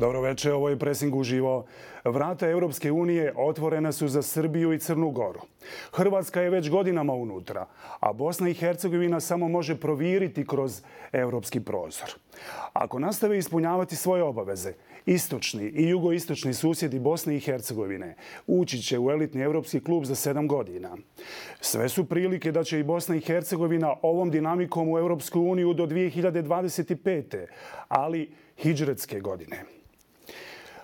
Dobro večer, ovo je Presing uživo. Vrata Europske unije otvorena su za Srbiju i Crnu Goru. Hrvatska je već godinama unutra, a Bosna i Hercegovina samo može proviriti kroz europski prozor. Ako nastave ispunjavati svoje obaveze, istočni i jugoistočni susjedi Bosne i Hercegovine ući će u elitni europski klub za 7 godina. Sve su prilike da će i Bosna i Hercegovina ovom dinamikom u Europsku uniju do 2025. ali hidžretske godine.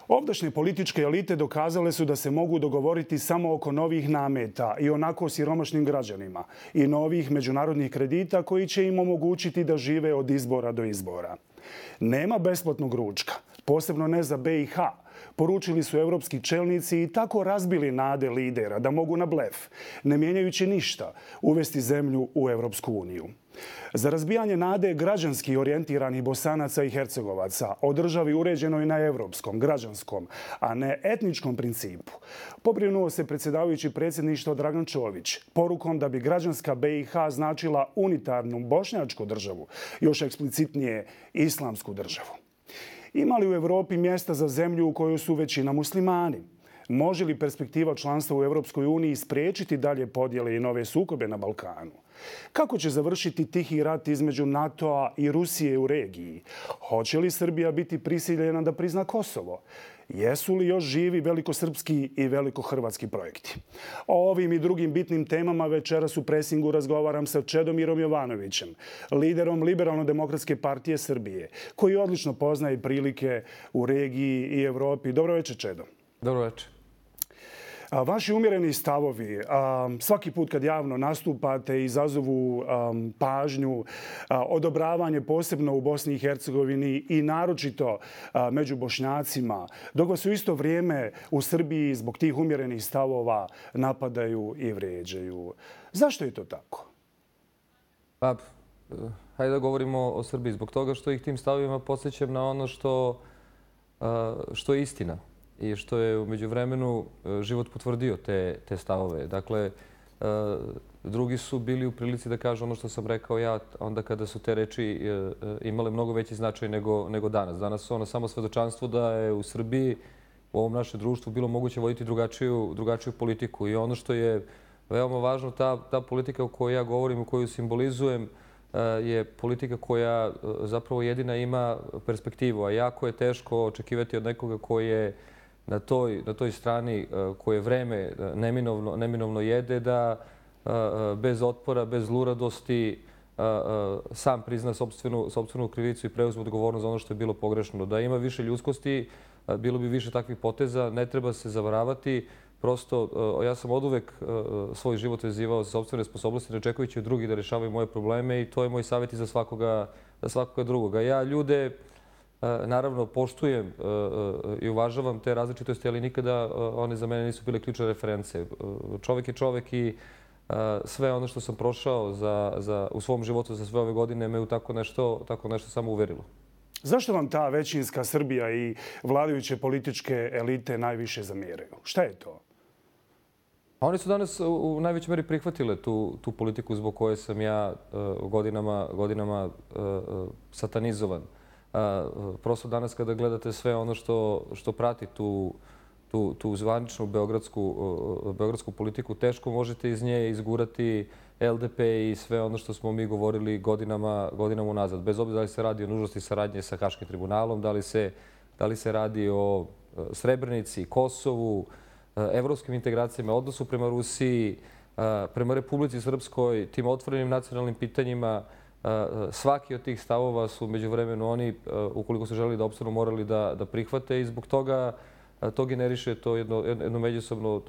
Ovdašnje političke elite dokazale su da se mogu dogovoriti samo oko novih nameta i onako siromašnim građanima i novih međunarodnih kredita koji će im omogućiti da žive od izbora do izbora. Nema besplatnog ručka, posebno ne za BiH, poručili su evropski čelnici i tako razbili nade lidera da mogu na blef, ne mijenjajući ništa, uvesti zemlju u Europsku uniju. Za razbijanje nade građanski orijentiranih Bosanaca i Hercegovaca o državi uređenoj na evropskom, građanskom, a ne etničkom principu, pobrinuo se predsjedavajući predsjedništva Dragan Čović porukom da bi građanska BiH značila unitarnu bošnjačku državu, još eksplicitnije islamsku državu. Ima li u Evropi mjesta za zemlju u kojoj su većina muslimani? Može li perspektiva članstva u Europskoj uniji spriječiti dalje podjele i nove sukobe na Balkanu? Kako će završiti tihi rat između NATO-a i Rusije u regiji? Hoće li Srbija biti prisiljena da prizna Kosovo? Jesu li još živi velikosrpski i velikohrvatski projekti? O ovim i drugim bitnim temama večeras u Presingu razgovaram sa Čedomirom Jovanovićem, liderom Liberalno-demokratske partije Srbije, koji odlično poznaje prilike u regiji i Evropi. Dobro večer, Čedo. Dobro večer. Vaši umjereni stavovi, svaki put kad javno nastupate, izazovu pažnju, odobravanje posebno u Bosni i Hercegovini i naročito među Bošnjacima, dok vas u isto vrijeme u Srbiji zbog tih umjerenih stavova napadaju i vrijeđaju. Zašto je to tako? Pa, hajde da govorimo o Srbiji. Zbog toga što ih tim stavovima podsjećam na ono što je istina i što je u međuvremenu život potvrdio te stavove. Dakle, drugi su bili u prilici da kažu ono što sam rekao ja onda kada su te reči imale mnogo veći značaj nego danas. Danas su ono samo svedočanstvo da je u Srbiji, u ovom našem društvu, bilo moguće voditi drugačiju politiku. I ono što je veoma važno, ta politika o kojoj ja govorim, o koju simbolizujem, je politika koja zapravo jedina ima perspektivu. A jako je teško očekivati od nekoga koji je na toj strani koje vreme neminovno jede, da bez otpora, bez zluradosti sam prizna sopstvenu krivicu i preuzme odgovornost za ono što je bilo pogrešno. Da ima više ljudskosti, bilo bi više takvih poteza, ne treba se zavaravati. Prosto, ja sam oduvek svoj život vezivao za sopstvene sposobnosti, ne očekujući od drugih da rješavaju moje probleme, i to je moj savjet i za svakoga drugoga. Ja ljude naravno poštujem i uvažavam te različitosti, ali nikada one za mene nisu bile ključne reference. Čovjek je čovjek i sve ono što sam prošao u svom životu za sve ove godine me u tako nešto samo uverilo. Zašto vam ta većinska Srbija i vladajuće političke elite najviše zamjeraju? Šta je to? Oni su danas u najvećoj meri prihvatile tu politiku zbog koje sam ja godinama satanizovan. Prosto danas kada gledate sve ono što prati tu zvaničnu beogradsku politiku, teško možete iz nje izgurati LDP i sve ono što smo mi govorili godinama unazad. Bez obzira da li se radi o nužnosti saradnje sa Haškim tribunalom, da li se radi o Srebrenici, Kosovu, evropskim integracijama, odnosu prema Rusiji, prema Republici Srpskoj, tim otvorenim nacionalnim pitanjima. Svaki od tih stavova su međuvremenu oni, ukoliko su želeli da opstanu, morali da prihvate, i zbog toga to generiše to jedno međusobno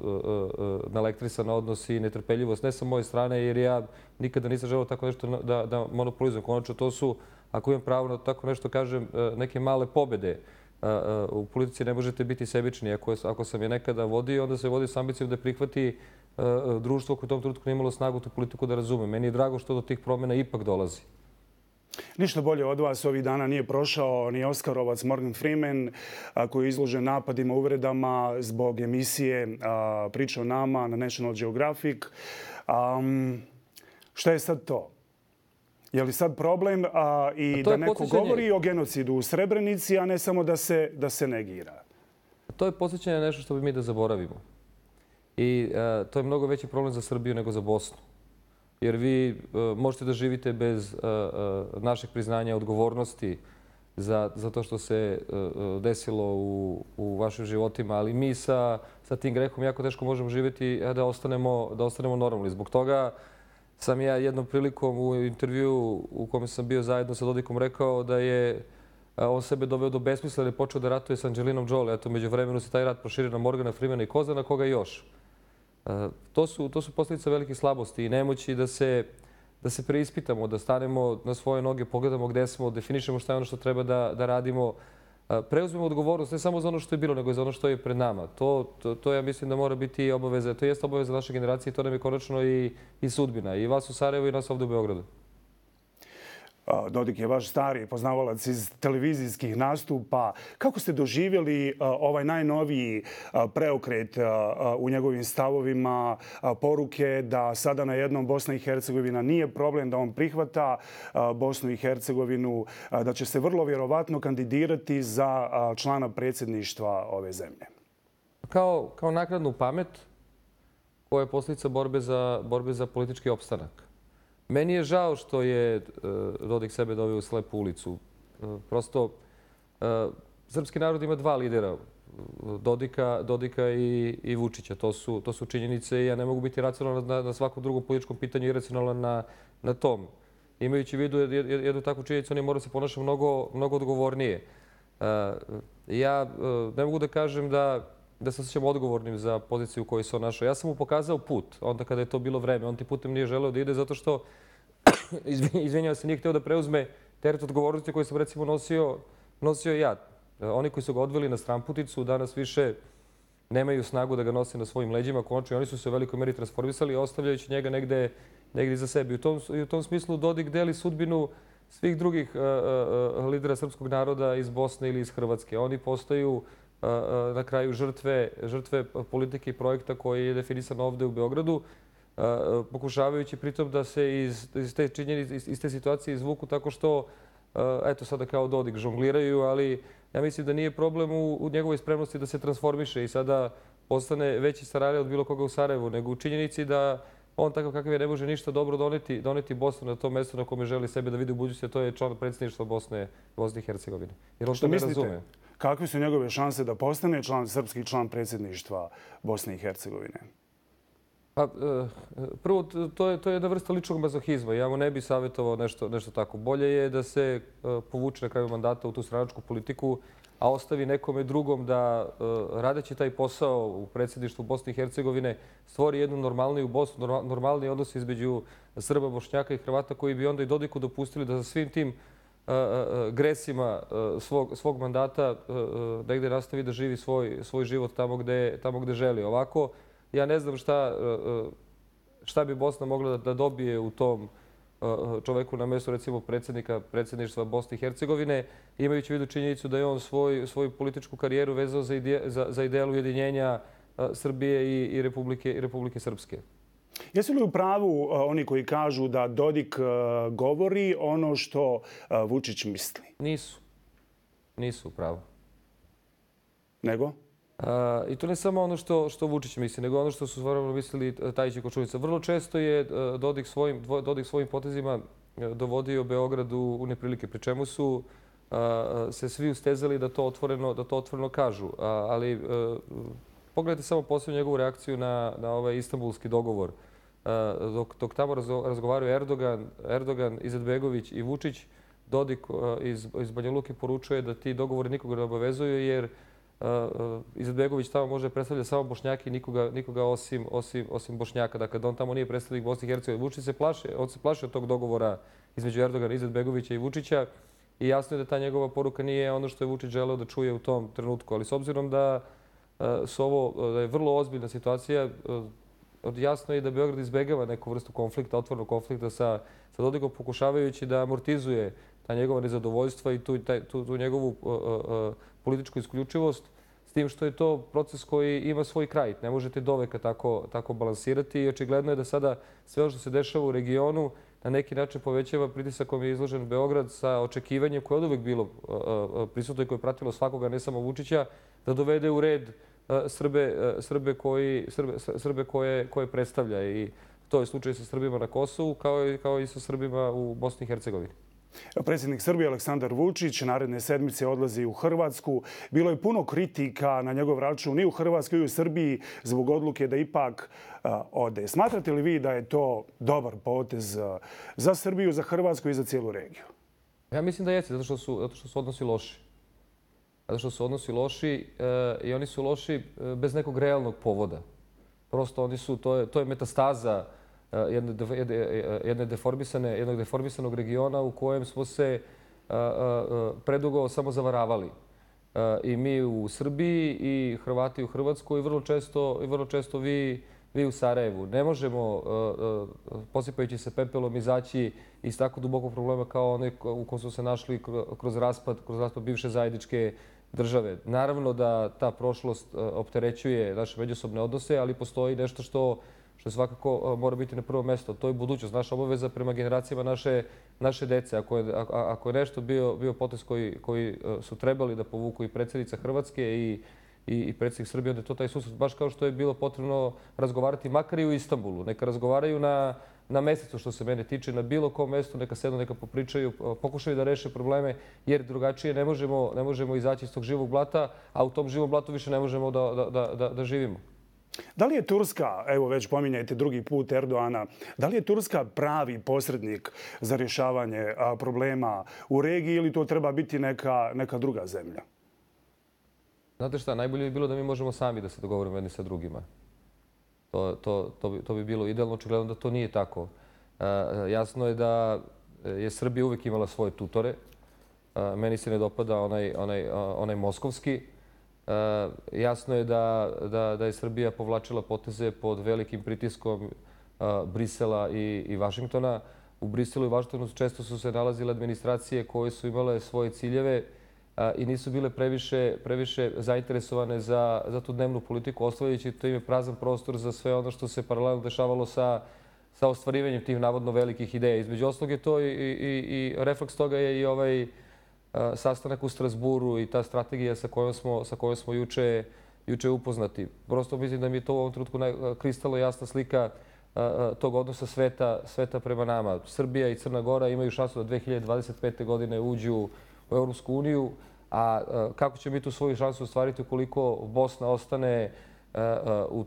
naelektrisan odnos i netrpeljivost, ne sa moje strane, jer ja nikada nisam želeo tako nešto da monopolizujem. Konačno, to su, ako imam pravo na tako nešto kažem, neke male pobjede. U politici ne možete biti sebični. Ako sam je nekada vodio, onda se vodi s ambicijom da prihvati društvo koje u tom trenutku nije imalo snagu tu politiku da razume. Meni je drago što do tih promjena ipak dolazi. Ništa bolje od vas ovih dana nije prošao ni Oskarovac Morgan Freeman, koji je izložen napadima, uvredama zbog emisije Priča o nama na National Geographic. Šta je sad to? Je li sad problem i da neko govori o genocidu u Srebrenici, a ne samo da se negira? To je podsjećanje na nešto što bi mi da zaboravimo. I to je mnogo veći problem za Srbiju nego za Bosnu. Jer vi možete da živite bez našeg priznanja odgovornosti za to što se desilo u vašim životima, ali mi sa tim grehom jako teško možemo živjeti da ostanemo normalni. Zbog toga sam ja jednom prilikom u intervju u kome sam bio zajedno sa Dodikom rekao da je on sebe doveo do besmisla jer je počeo da ratuje sa Angelinom Jolie. Eto, među vremenu se taj rat proširio na Morgana Freemana i Kozana, koga još. To su posljedice velike slabosti i nemoći da se preispitamo, da stanemo na svoje noge, pogledamo gde smo, definišemo šta je ono što treba da radimo, preuzmemo odgovornost ne samo za ono što je bilo, nego i za ono što je pred nama. To ja mislim da mora biti obaveza. To jeste obaveza naše generacije i to nam je konačno i sudbina. I vas u Sarajevu i nas ovdje u Beogradu. Dodik je vaš stari poznavalac iz televizijskih nastupa. Kako ste doživjeli ovaj najnoviji preokret u njegovim stavovima, poruke da sada na jednom Bosna i Hercegovina nije problem, da on prihvata Bosnu i Hercegovinu, da će se vrlo vjerovatno kandidirati za člana predsjedništva ove zemlje? Kao naknadnu pamet koja je posljedica borbe za politički opstanak. Meni je žao što je Dodik sebe doveo u slepu ulicu. Prosto, srpski narod ima dva lidera, Dodika i Vučića. To su činjenice i ja ne mogu biti racionalan na svakom drugom političkom pitanju i racionalan na tom. Imajući u vidu jednu takvu činjenicu, oni moraju se ponašati mnogo odgovornije. Ja ne mogu da kažem da se osjećam odgovornim za poziciju u kojoj se on našao. Ja sam mu pokazao put, onda kada je to bilo vreme. On tim putem nije želeo da ide zato što, izvinjavam se, nije hteo da preuzme teret odgovornosti koji sam recimo nosio ja. Oni koji su ga odveli na stramputicu danas više nemaju snagu da ga nose na svojim leđima. Konačno, oni su se u velikoj meri transformisali, ostavljajući njega negde iza sebe. I u tom smislu Dodik deli sudbinu svih drugih lidera srpskog naroda iz Bosne ili iz Hrvatske. Oni postaju na kraju žrtve politike i projekta koji je definisan ovde u Beogradu, pokušavajući pritom da se iz te situacije izvuku tako što, eto sada kao Dodik, žongliraju, ali ja mislim da nije problem u njegovoj spremnosti da se transformiše i sada postane veći starare od bilo koga u Sarajevu, nego u činjenici da on takav kakav je ne može ništa dobro doneti Bosnu na to mesto na kome želi sebe da vidi u budućnosti, a to je član predsjedništva Bosne i Hercegovine. Jer on to ne razume. Kakve su njegove šanse da postane srpski član predsjedništva Bosne i Hercegovine? Prvo, to je jedna vrsta ličnog mazohizma. Ja mu ne bih savjetovao nešto tako. Bolje je da se povuče na kraju mandata u tu stranačku politiku, a ostavi nekome drugom da, radeći taj posao u predsjedništvu Bosne i Hercegovine, stvori jednu normalniju Bosnu, normalniji odnos između Srba, Bošnjaka i Hrvata koji bi onda i Dodiku dopustili da za svim tim gresima svog mandata negde nastavi da živi svoj život tamo gde želi. Ovako, ja ne znam šta bi Bosna mogla da dobije u tom čoveku na mjestu, recimo, predsjednika predsjedništva Bosne i Hercegovine, imajući u vidu činjenicu da je on svoju političku karijeru vezao za ideal ujedinjenja Srbije i Republike Srpske. Jesu li u pravu oni koji kažu da Dodik govori ono što Vučić misli? Nisu u pravu. Nego? I to ne samo ono što Vučić misli, nego ono što su stvarno mislili Tajić i Kočunica. Vrlo često je Dodik svojim potezima dovodio Beograd u neprilike, pri čemu su se svi ustezali da to otvoreno kažu. Ali pogledajte samo posljednju njegovu reakciju na ovaj istanbulski dogovor. Dok tamo razgovaraju Erdogan, Izetbegović i Vučić, Dodik iz Banja Luke poručuje da ti dogovori nikoga ne obavezuju jer Izetbegović tamo može predstavljati samo Bošnjaki i nikoga osim Bošnjaka. Dakle, da on tamo nije predstavnik Bosne i Hercegovine. Vučić se plaši od tog dogovora između Erdogana, Izetbegovića i Vučića i jasno je da ta njegova poruka nije ono što je Vučić želeo da čuje u tom trenutku. Ali s obzirom da je vrlo ozbiljna situacija, jasno je da Beograd izbegava neku vrstu konflikta, otvornog konflikta sa Dodikom, pokušavajući da amortizuje ta njegova nezadovoljstva i tu njegovu političku isključivost, s tim što je to proces koji ima svoj kraj. Ne možete doveka tako balansirati i očigledno je da sada sve ono što se dešava u regionu na neki način povećava pritisak kojim je izložen Beograd sa očekivanjem koje je od uvek bilo prisutno i koje je pratilo svakoga, ne samo Vučića, da dovede u red Srbe koje predstavlja. I to je slučaj sa Srbima na Kosovu kao i sa Srbima u Bosni i Hercegovini. Predsjednik Srbije Aleksandar Vučić naredne sedmice odlazi u Hrvatsku. Bilo je puno kritika na njegov račun i u Hrvatskoj i u Srbiji zbog odluke da ipak ode. Smatrate li vi da je to dobar potez za Srbiju, za Hrvatsku i za cijelu regiju? Ja mislim da jeste, zato što su odnosi loši. Zato što su odnosi loši i oni su loši bez nekog realnog povoda. Prosto to je metastaza jednog deformisanog regiona u kojem smo se predugo samo zavaravali. I mi u Srbiji i Hrvati u Hrvatskoj i vrlo često vi u Sarajevu. Ne možemo, posipajući se pepelom, izaći iz tako dubokog problema kao onaj u kojem smo se našli kroz raspad bivše zajedničke države. Naravno da ta prošlost opterećuje naše međusobne odnose, ali postoji nešto što svakako mora biti na prvo mesto. To je budućnost, naša obaveza prema generacijama naše dece. Ako je nešto bio potez koji su trebali da povuku i predsjednica Hrvatske i predsjednik Srbije, onda je to taj susret. Baš kao što je bilo potrebno razgovarati makar i u Istanbulu. Neka razgovaraju na mesecu što se mene tiče, na bilo kom mestu, neka sednu, neka popričaju, pokušaju da reše probleme, jer drugačije ne možemo izaći iz tog živog blata, a u tom živom blatu više ne možemo da živimo. Da li je Turska, evo već pominjajte drugi put Erdoana, da li je Turska pravi posrednik za rješavanje problema u regiji ili to treba biti neka druga zemlja? Znate šta, najbolje bi bilo da mi možemo sami da se dogovorimo jedni sa drugima. To bi bilo idealno, očigledno da to nije tako. Jasno je da je Srbija uvijek imala svoje tutore. Meni se ne dopada onaj moskovski. Jasno je da je Srbija povlačila poteze pod velikim pritiskom Brisela i Vašingtona. U Briselu i Vašingtonu često su se nalazile administracije koje su imale svoje ciljeve i nisu bile previše zainteresovane za tu dnevnu politiku, ostavljajući to ime prazan prostor za sve ono što se paralelno dešavalo sa ostvarivanjem tih navodno velikih ideja. Između ostalog je to i refleks toga je i ovaj sastanak u Strasburu i ta strategija sa kojom smo juče upoznati. Prosto mislim da mi je to u ovom trenutku kristalno jasna slika tog odnosa sveta prema nama. Srbija i Crna Gora imaju šansu da 2025. godine uđu u Europsku uniju, a kako će mi tu svoju šansu ostvariti ukoliko Bosna ostane u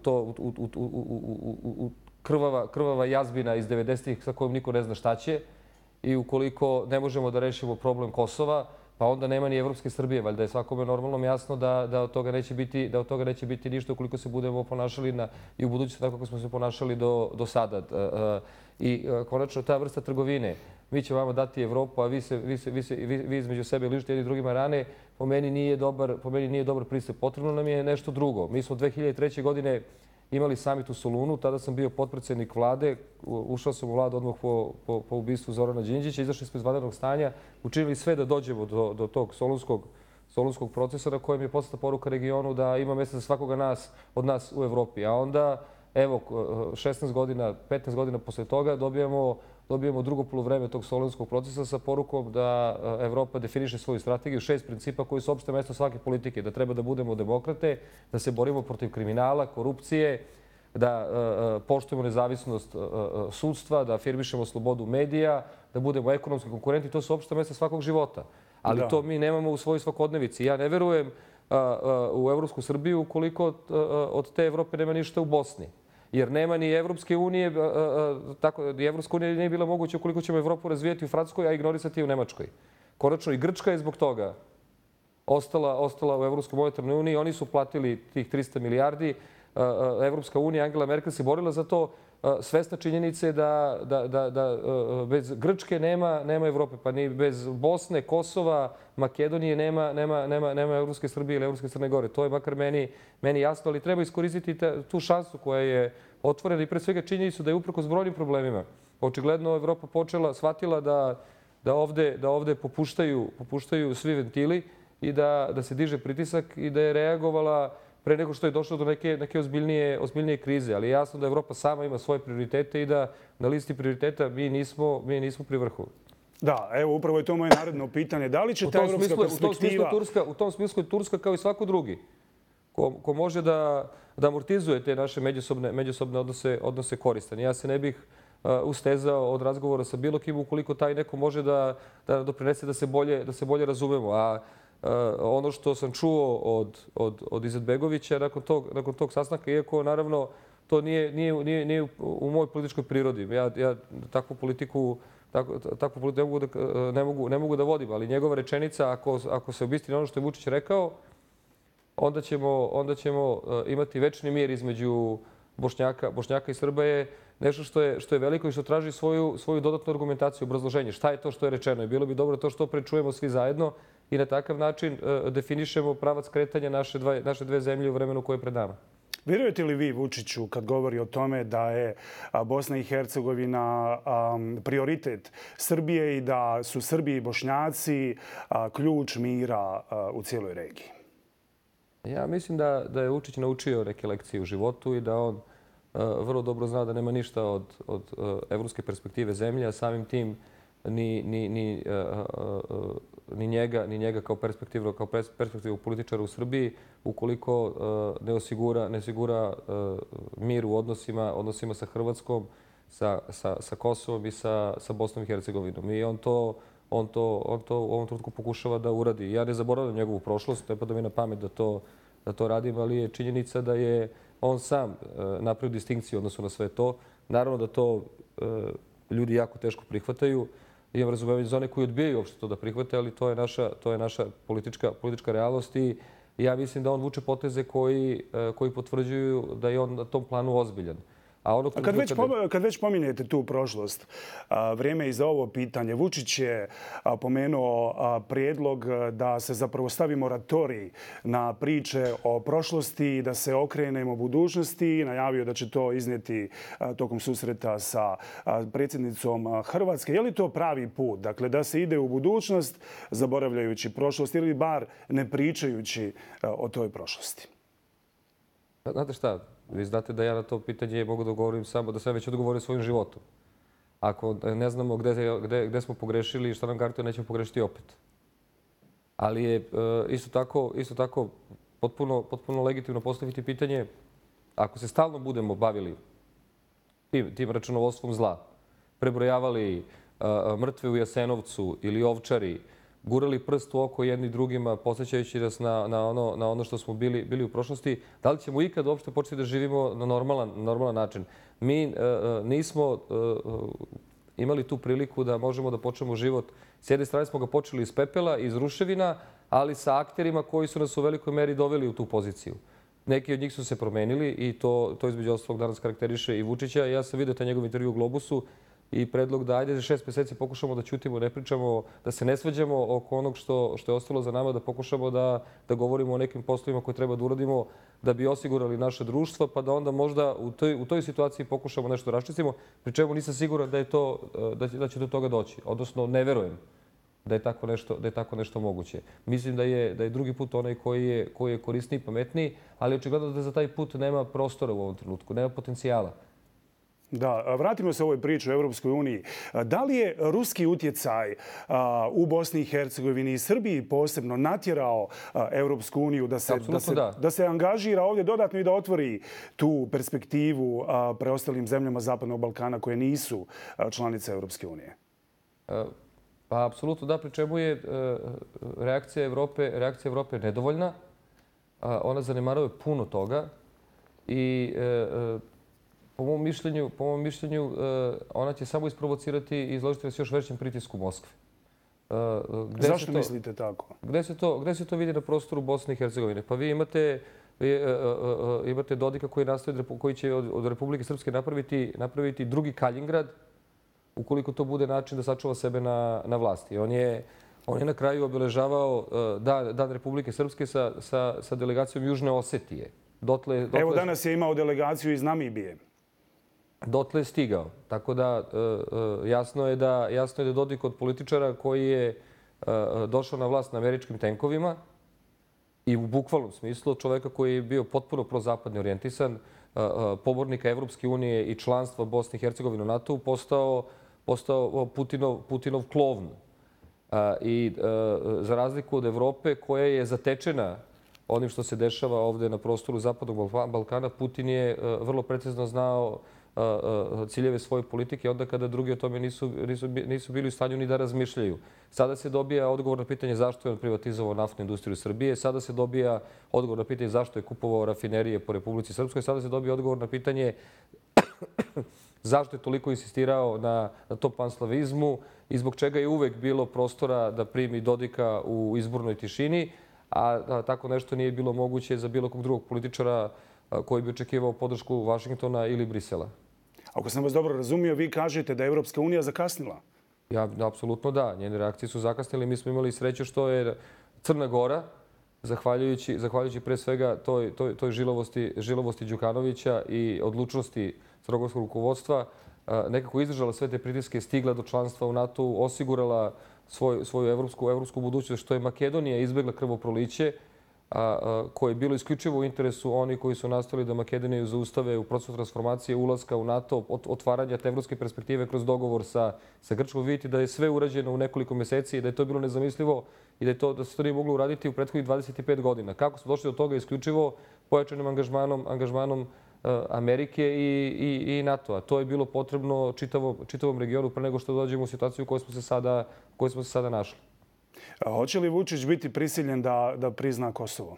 krvava jazbina iz 90-ih sa kojom niko ne zna šta će, i ukoliko ne možemo da rešimo problem Kosova, pa onda nema ni Evropske Srbije. Valjda je svakome normalno jasno da od toga neće biti ništa ukoliko se budemo ponašali i u budućnosti tako kako smo se ponašali do sada. I konačno ta vrsta trgovine. Mi ćemo vama dati Evropu, a vi između sebe ližite jedni drugima rane. Po meni nije dobar pristup. Potrebno nam je nešto drugo. Mi smo 2003. godine imali samit u Solunu, tada sam bio potpredsjednik vlade, ušao sam u vladu odmah po ubistvu Zorana Đinđića, izašli smo iz vanrednog stanja, učinili sve da dođemo do tog solunskog procesa na kojem je poslata poruka regionu da ima mjesta za svakoga od nas u Evropi. A onda, evo, 16 godina, 15 godina posle toga dobijemo drugo poluvreme tog solunskog procesa sa porukom da Evropa definiše svoju strategiju, 6 principa koji su opšte mesto svake politike, da treba da budemo demokrate, da se borimo protiv kriminala, korupcije, da poštujemo nezavisnost sudstva, da afirmišemo slobodu medija, da budemo ekonomski konkurenti. To su opšte mesta svakog života. Ali to mi nemamo u svojoj svakodnevici. Ja ne verujem u Evropsku Srbiju ukoliko od te Evrope nema ništa u Bosni. Jer nema ni Evropske unije, ni Evropska unija nije bila moguća ukoliko ćemo Evropu razvijati u Francuskoj, a ignorisati u Nemačkoj. Konačno i Grčka je zbog toga ostala u Evropskoj monetarnoj uniji. Oni su platili tih 300 milijardi. Evropska unija, Angela Merkel se borila za to. Svesna činjenice da bez Grčke nema Evrope, pa ni bez Bosne, Kosova, Makedonije nema Evropske Srbije ili Evropske Crne Gore. To je makar meni jasno, ali treba iskoristiti tu šansu koja je otvorena i pre svega činjenicu da je uprkos brojnim problemima. Očigledno Evropa shvatila da ovde popuštaju svi ventili i da se diže pritisak i da je reagovala pre nego što je došlo do neke ozbiljnije krize. Ali je jasno da Evropa sama ima svoje prioritete i da na listi prioriteta mi nismo pri vrhu. Da, evo upravo je to moje naredno pitanje. Da li će ta evropska perspektiva... U tom smislu je Turska kao i svako drugi ko može da amortizuje te naše međusobne odnose koristan. Ja se ne bih ustezao od razgovora sa bilo kim ukoliko taj neko može da doprinese da se bolje razumemo. A ono što sam čuo od Izetbegovića nakon tog sastanka, iako naravno to nije u mojoj političkoj prirodi. Ja takvu politiku ne mogu da vodim, ali njegova rečenica, ako se obistini ono što je Vučić rekao, onda ćemo imati večni mir između Bošnjaka i Srba je nešto što je veliko i što traži svoju dodatnu argumentaciju, obrazloženje. Šta je to što je rečeno? I bilo bi dobro to što prečujemo svi zajedno i na takav način definišemo pravac kretanja naše dve zemlje u vremenu koje je pred nama. Vjerujete li vi Vučiću kad govori o tome da je Bosna i Hercegovina prioritet Srbije i da su Srbi i Bošnjaci ključ mira u cijeloj regiji? Ja mislim da je Vučić naučio neke lekcije u životu i da on vrlo dobro zna da nema ništa od evropske perspektive zemlje, a samim tim ni njega kao perspektivnog političara u Srbiji, ukoliko ne osigura mir u odnosima sa Hrvatskom, sa Kosovom i sa Bosnom i Hercegovinom. I on to u ovom trenutku pokušava da uradi. Ja ne zaboravljam njegovu prošlost, ne pada mi na pamet da to radim, ali je činjenica da je on sam napravio distinkciju odnosno na sve to. Naravno da to ljudi jako teško prihvataju. Imam razumevanje za one koji odbijaju uopšte to da prihvate, ali to je naša politička realnost i ja mislim da on vuče poteze koji potvrđuju da je on na tom planu ozbiljan. Kad već pominjete tu prošlost, vrijeme je i za ovo pitanje. Vučić je pomenuo prijedlog da se zapravo stavi moratorij na priče o prošlosti i da se okrenemo budućnosti i najavio da će to iznijeti tokom susreta sa predsjednicom Hrvatske. Je li to pravi put? Dakle, da se ide u budućnost zaboravljajući prošlost ili bar ne pričajući o toj prošlosti? Znate šta? Vi znate da ja na to pitanje mogu da odgovorim samo da sam već odgovorio svojim životom. Ako ne znamo gde smo pogrešili i šta nam garantuje, nećemo pogrešiti opet. Ali je isto tako potpuno legitimno postaviti pitanje ako se stalno budemo bavili tim računovodstvom zla, prebrojavali mrtve u Jasenovcu ili Ovčari, gurali prst u oko jedni drugima, podsjećajući nas na ono što smo bili u prošlosti, da li ćemo ikad uopšte početi da živimo na normalan način? Mi nismo imali tu priliku da možemo da počnemo život. S jedne strane smo ga počeli iz pepela, iz ruševina, ali sa akterima koji su nas u velikoj meri doveli u tu poziciju. Neki od njih su se promenili i to između ostalog danas karakteriše i Vučića. Ja sam vidio taj njegov intervju u Globusu i predlog da ajde za 6 mjeseci pokušamo da ćutimo, ne pričamo, da se ne svađamo oko onog što je ostalo za nama, da pokušamo da govorimo o nekim poslovima koje treba da uradimo da bi osigurali naše društvo, pa da onda možda u toj situaciji pokušamo nešto da raščistimo, pri čemu nisam siguran da će do toga doći. Odnosno, ne verujem da je tako nešto moguće. Mislim da je drugi put onaj koji je korisniji i pametniji, ali očigledno da za taj put nema prostora u ovom trenutku, nema potencijala. Da, vratimo se ovoj priči o Europskoj uniji. Da li je ruski utjecaj u Bosni i Hercegovini i Srbiji posebno natjerao Europsku uniju da se angažira ovdje dodatno i da otvori tu perspektivu preostalim zemljama Zapadnog Balkana koje nisu članice Europske unije? Pa, apsolutno da, pri čemu je reakcija Evrope nedovoljna. Ona zanemaruje puno toga i po mom mišljenju, ona će samo isprovocirati i izložiti nas još većem pritisku Moskve. Zašto mislite tako? Gde se to vidi na prostoru Bosne i Hercegovine? Pa vi imate Dodika koji će od Republike Srpske napraviti drugi Kaljingrad, ukoliko to bude način da sačuva sebe na vlasti. On je na kraju obeležavao Dan Republike Srpske sa delegacijom Južne Osetije. Evo danas je imao delegaciju iz Namibije. Dotle je stigao. Tako da jasno je da Dodik od političara koji je došao na vlast na američkim tenkovima i u bukvalnom smislu od čoveka koji je bio potpuno prozapadno orijentisan, pobornika Evropske unije i članstva Bosne i Hercegovine u NATO-u, postao Putinov klovn. I za razliku od Evrope koja je zatečena onim što se dešava ovde na prostoru Zapadnog Balkana, Putin je vrlo precizno znao ciljeve svoje politike onda kada drugi o tome nisu bili u stanju ni da razmišljaju. Sada se dobija odgovor na pitanje zašto je on privatizovao naftnu industriju Srbije, sada se dobija odgovor na pitanje zašto je kupovao rafinerije po Republici Srpskoj, sada se dobija odgovor na pitanje zašto je toliko insistirao na tom panslavizmu i zbog čega je uvek bilo prostora da primi Dodika u izbornoj tišini, a tako nešto nije bilo moguće za bilo kog drugog političara koji bi očekivao podršku Vašingtona ili Brisela. Ako sam vas dobro razumio, vi kažete da je Evropska unija zakasnila. Apsolutno da. Njene reakcije su zakasnile. Mi smo imali sreću što je Crna Gora, zahvaljujući pre svega toj žilovosti Đukanovića i odlučnosti crnogorskog rukovodstva, nekako izdržala sve te pritiske, stigla do članstva u NATO-u, osigurala svoju evropsku budućnost, što je Makedonija izbegla krvoproliće, koje je bilo isključivo u interesu onih koji su nastavili da Makedoniju zaustave u procesu transformacije, ulaska u NATO, otvaranja te evropske perspektive kroz dogovor sa Grčkom. Vidite da je sve urađeno u nekoliko meseci i da je to bilo nezamislivo i da se to nije moglo uraditi u prethodnih 25 godina. Kako smo došli do toga? Isključivo pojačanim angažmanom Amerike i NATO-a. To je bilo potrebno čitavom regionu pre nego što dođemo u situaciju u kojoj smo se sada našli. Hoće li Vučić biti prisiljen da prizna Kosovo?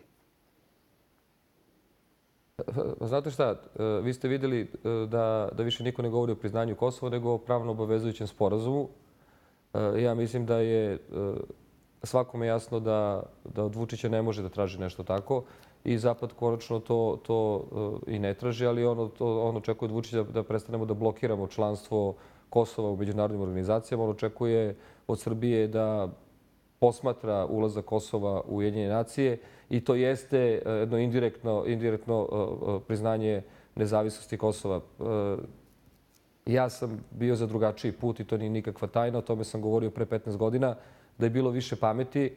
Znate šta, vi ste vidjeli da više niko ne govori o priznanju Kosova nego o pravno obavezujućem sporazumu. Ja mislim da je svakome jasno da od Vučića ne može da traži nešto tako i Zapad konačno to i ne traži, ali on očekuje od Vučića da prestanemo da blokiramo članstvo Kosova u međunarodnim organizacijama. On očekuje od Srbije da posmatra ulazak Kosova u Ujedinjene nacije i to jeste jedno indirektno priznanje nezavisnosti Kosova. Ja sam bio za drugačiji put i to nije nikakva tajna. O tome sam govorio pre 15 godina. Da je bilo više pameti,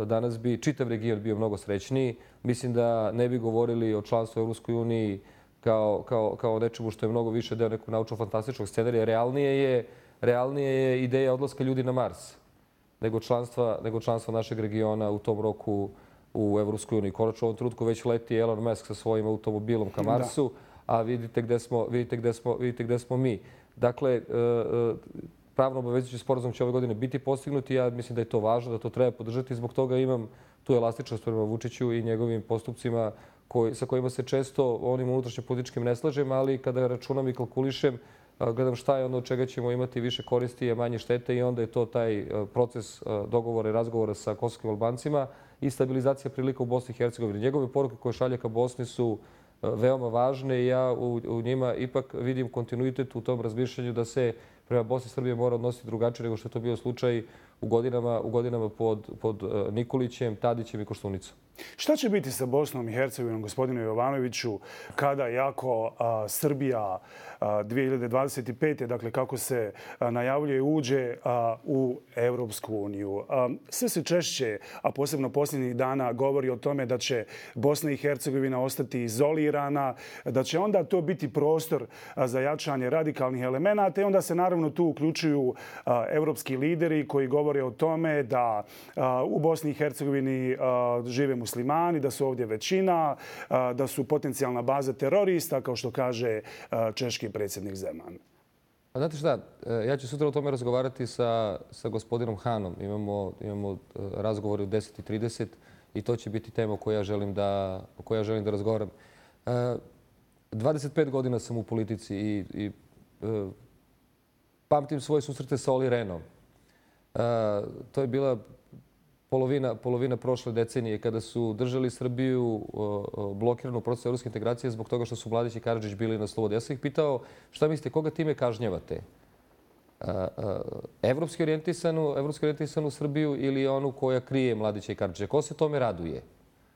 danas bi čitav region bio mnogo srećniji. Mislim da ne bi govorili o članstvu u Evropskoj uniji kao nečemu što je mnogo više deo nekog naučno-fantastičnog scenarija. Realnije je ideja odlaska ljudi na Mars nego članstva našeg regiona u tom roku u Evropskoj uniji. Konačno u ovom trenutku već leti Elon Musk sa svojim automobilom ka Marsu, a vidite gde smo mi. Dakle, pravno obavezujući sporazum će ove godine biti postignut i ja mislim da je to važno, da to treba podržati. Zbog toga imam tu elastičnost prema Vučiću i njegovim postupcima sa kojima se često onim unutrašnjim političkim ne slažem, ali kada računam i kalkulišem, gledam šta je ono od čega ćemo imati više koristi, a manje štete i onda je to taj proces dogovora i razgovora sa kosovskim Albancima i stabilizacija prilika u Bosni i Hercegovini. Njegove poruke koje šalje ka Bosni su veoma važne i ja u njima ipak vidim kontinuitet u tom razmišljanju da se prema Bosni i Srbije mora odnositi drugačije nego što je to bio slučaj u godinama pod Nikolićem, Tadićem i Koštunicom. Šta će biti sa Bosnom i Hercegovinom, gospodine Jovanoviću, kada jako Srbija 2025. dakle kako se najavljuje, uđe u Evropsku uniju? Sve se češće, a posebno posljednjih dana, govori o tome da će Bosna i Hercegovina ostati izolirana, da će onda to biti prostor za jačanje radikalnih elemenata i onda se naravno tu uključuju evropski lideri koji govore o tome da u Bosni i Hercegovini žive muslimani, da su ovdje većina, da su potencijalna baza terorista, kao što kaže češki predsjednik Zeman. Znate šta, ja ću sutra o tome razgovarati sa gospodinom Hanom. Imamo razgovor u 10:30 i to će biti tema o kojoj ja želim da razgovaram. 25 godina sam u politici i pamtim svoje susrete sa Olli Rehnom. To je bila polovina prošle decenije kada su držali Srbiju blokiranu u procesu evropske integracije zbog toga što su Mladić i Karadžić bili na slobodi. Ja sam ih pitao šta mislite, koga time kažnjavate? Evropski orijentisanu Srbiju ili onu koja krije Mladića i Karadžića? Ko se tome raduje?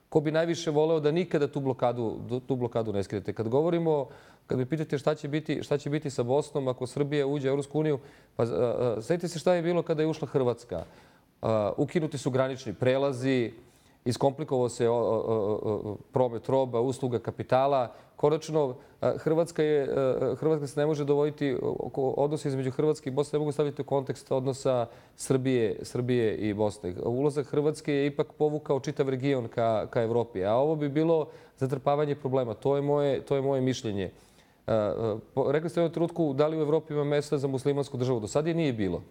Ko bi najviše voleo da nikada tu blokadu ne skidete? Kad me pitate šta će biti sa Bosnom ako Srbija uđe u Evropsku uniju, pa sjetite se šta je bilo kada je ušla Hrvatska. Ukinuti su granični prelazi, Iskomplikovao se promet roba, usluga, kapitala. Konačno, Hrvatska se ne može dovoditi, odnosi između Hrvatske i Bosne ne mogu staviti u kontekst odnosa Srbije i Bosne. Ulazak Hrvatske je ipak povukao čitav region ka Evropi, a ovo bi bilo zatrpavanje problema. To je moje mišljenje. Rekli ste u jednom trenutku da li u Evropi ima mesta za muslimansku državu. Do sad je nije bilo.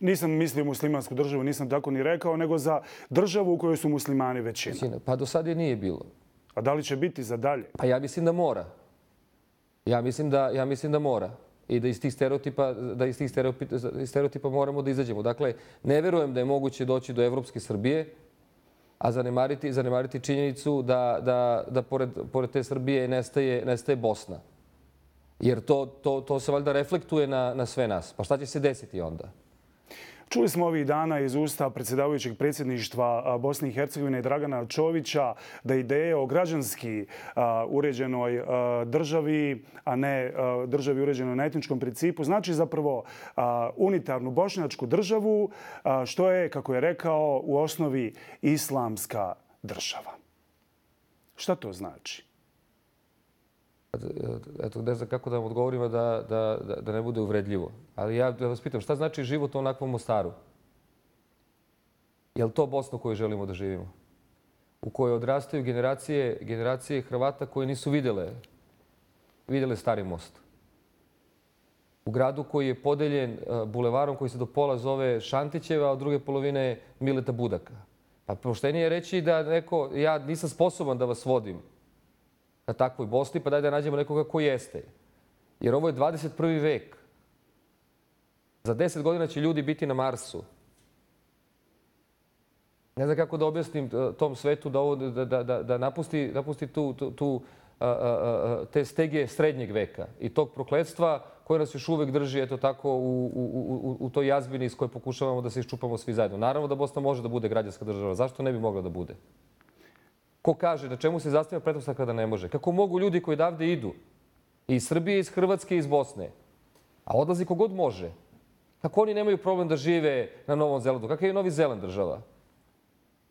Nisam mislio muslimansku državu, nisam tako ni rekao, nego za državu u kojoj su muslimani većina. Pa do sad je nije bilo. A da li će biti za dalje? Pa ja mislim da mora. Ja mislim da mora. I da iz tih stereotipa moramo da izađemo. Dakle, ne verujem da je moguće doći do evropske Srbije, a zanemariti činjenicu da pored te Srbije nestaje Bosna. Jer to se valjda reflektuje na sve nas. Pa šta će se desiti onda? Čuli smo ovih dana iz usta predsjedavajućeg predsjedništva Bosne i Hercegovine Dragana Čovića da ideje o građanski uređenoj državi, a ne državi uređenoj na etničkom principu, znači zapravo unitarnu bošnjačku državu, što je, kako je rekao, u osnovi islamska država. Šta to znači? Eto, ne znam kako da vam odgovorimo da ne bude uvredljivo. Ali ja da vas pitam, šta znači život u onakvom Mostaru? Je li to Bosna u kojoj želimo da živimo? U kojoj odrastaju generacije Hrvata koje nisu vidjele Stari most. U gradu koji je podeljen bulevarom koji se do pola zove Šantićeva, a od druge polovine Mileta Budaka. Pa poštenije je reći da ja nisam sposoban da vas vodim na takvoj Bosni, pa daj da nađemo nekoga ko jeste. Jer ovo je 21. vek. Za 10 godina će ljudi biti na Marsu. Ne znam kako da objasnim tom svetu da napusti te stege srednjeg veka i tog prokletstva koje nas još uvek drži eto tako u toj jazbini iz koje pokušavamo da se iščupamo svi zajedno. Naravno da Bosna može da bude građanska država. Zašto ne bi mogla da bude? Ko kaže, na čemu se zasniva pretpostavka da ne može? Kako mogu ljudi koji odavde idu, iz Srbije, iz Hrvatske, iz Bosne, a odlazi kogod može, kako oni nemaju problem da žive na Novom Zelandu? Kakav je Novi Zeland država?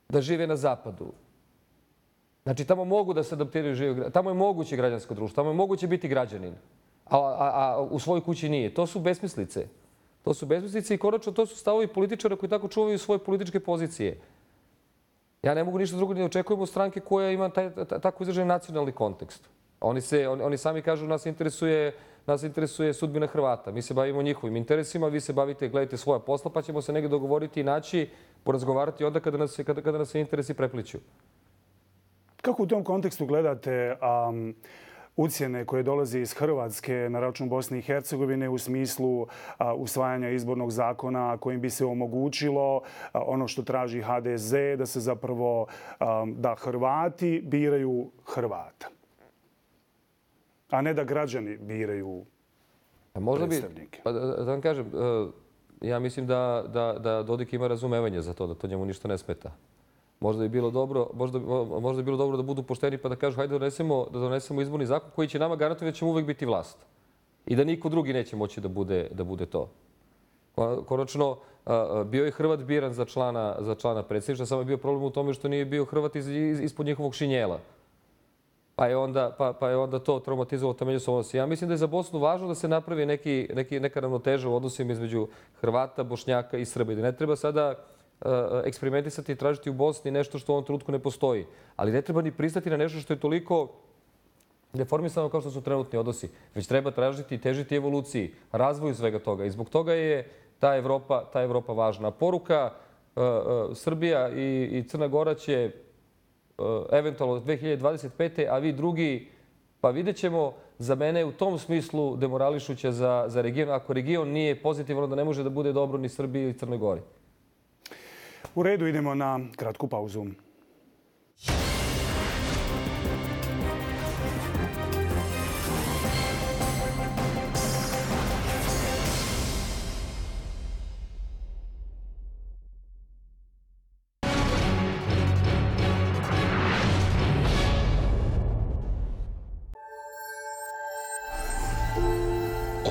Da žive na zapadu. Znači, tamo mogu da se adaptiraju, tamo je moguće građansko društvo, tamo je moguće biti građanin, a u svojoj kući nije. To su besmislice. To su besmislice i konačno to su stavovi političara koji tako čuvaju svoje političke pozicije. Ja ne mogu ništa drugo ni očekujem od stranke koja ima tako izražen nacionalni kontekst. Oni sami kažu nas interesuje sudbina Hrvata. Mi se bavimo njihovim interesima, vi se bavite, gledajte svoja posla, pa ćemo se negdje dogovoriti i naći, porazgovarati onda kada nas se interesi prepliću. Kako u tom kontekstu gledate ucjene koje dolaze iz Hrvatske na račun Bosne i Hercegovine u smislu usvajanja izbornog zakona kojim bi se omogućilo ono što traži HDZ, da se zapravo da Hrvati biraju Hrvata, a ne da građani biraju predstavnike? Da vam kažem, ja mislim da Dodik ima razumevanje za to, da to njemu ništa ne smeta. Možda bi bilo dobro da budu pošteni pa da kažu hajde da donesemo izborni zakon koji će nama garantovati da ćemo uvek biti vlast. I da niko drugi neće moći da bude to. Konačno, bio je Hrvat biran za člana predsjedništva, samo je bio problem u tome što nije bio Hrvat ispod njihovog šinjela. Pa je onda to traumatizovalo ta međusobna odnosa. Ja mislim da je za Bosnu važno da se napravi neka ravnoteža u odnosima između Hrvata, Bošnjaka i Srba. Da ne treba sada eksperimentisati i tražiti u Bosni nešto što u ovom trenutku ne postoji. Ali ne treba ni pristati na nešto što je toliko deformisano kao što su trenutni odnosi. Već treba tražiti i težiti evoluciji, razvoju svega toga. I zbog toga je ta Evropa važna. Poruka Srbija i Crna Gora će eventualno 2025. a vi drugi, pa vidjet ćemo, za mene u tom smislu demorališuća za region. Ako region nije pozitivan, onda ne može da bude dobro ni Srbiji ili Crnoj Gori. U redu, idemo na kratku pauzu.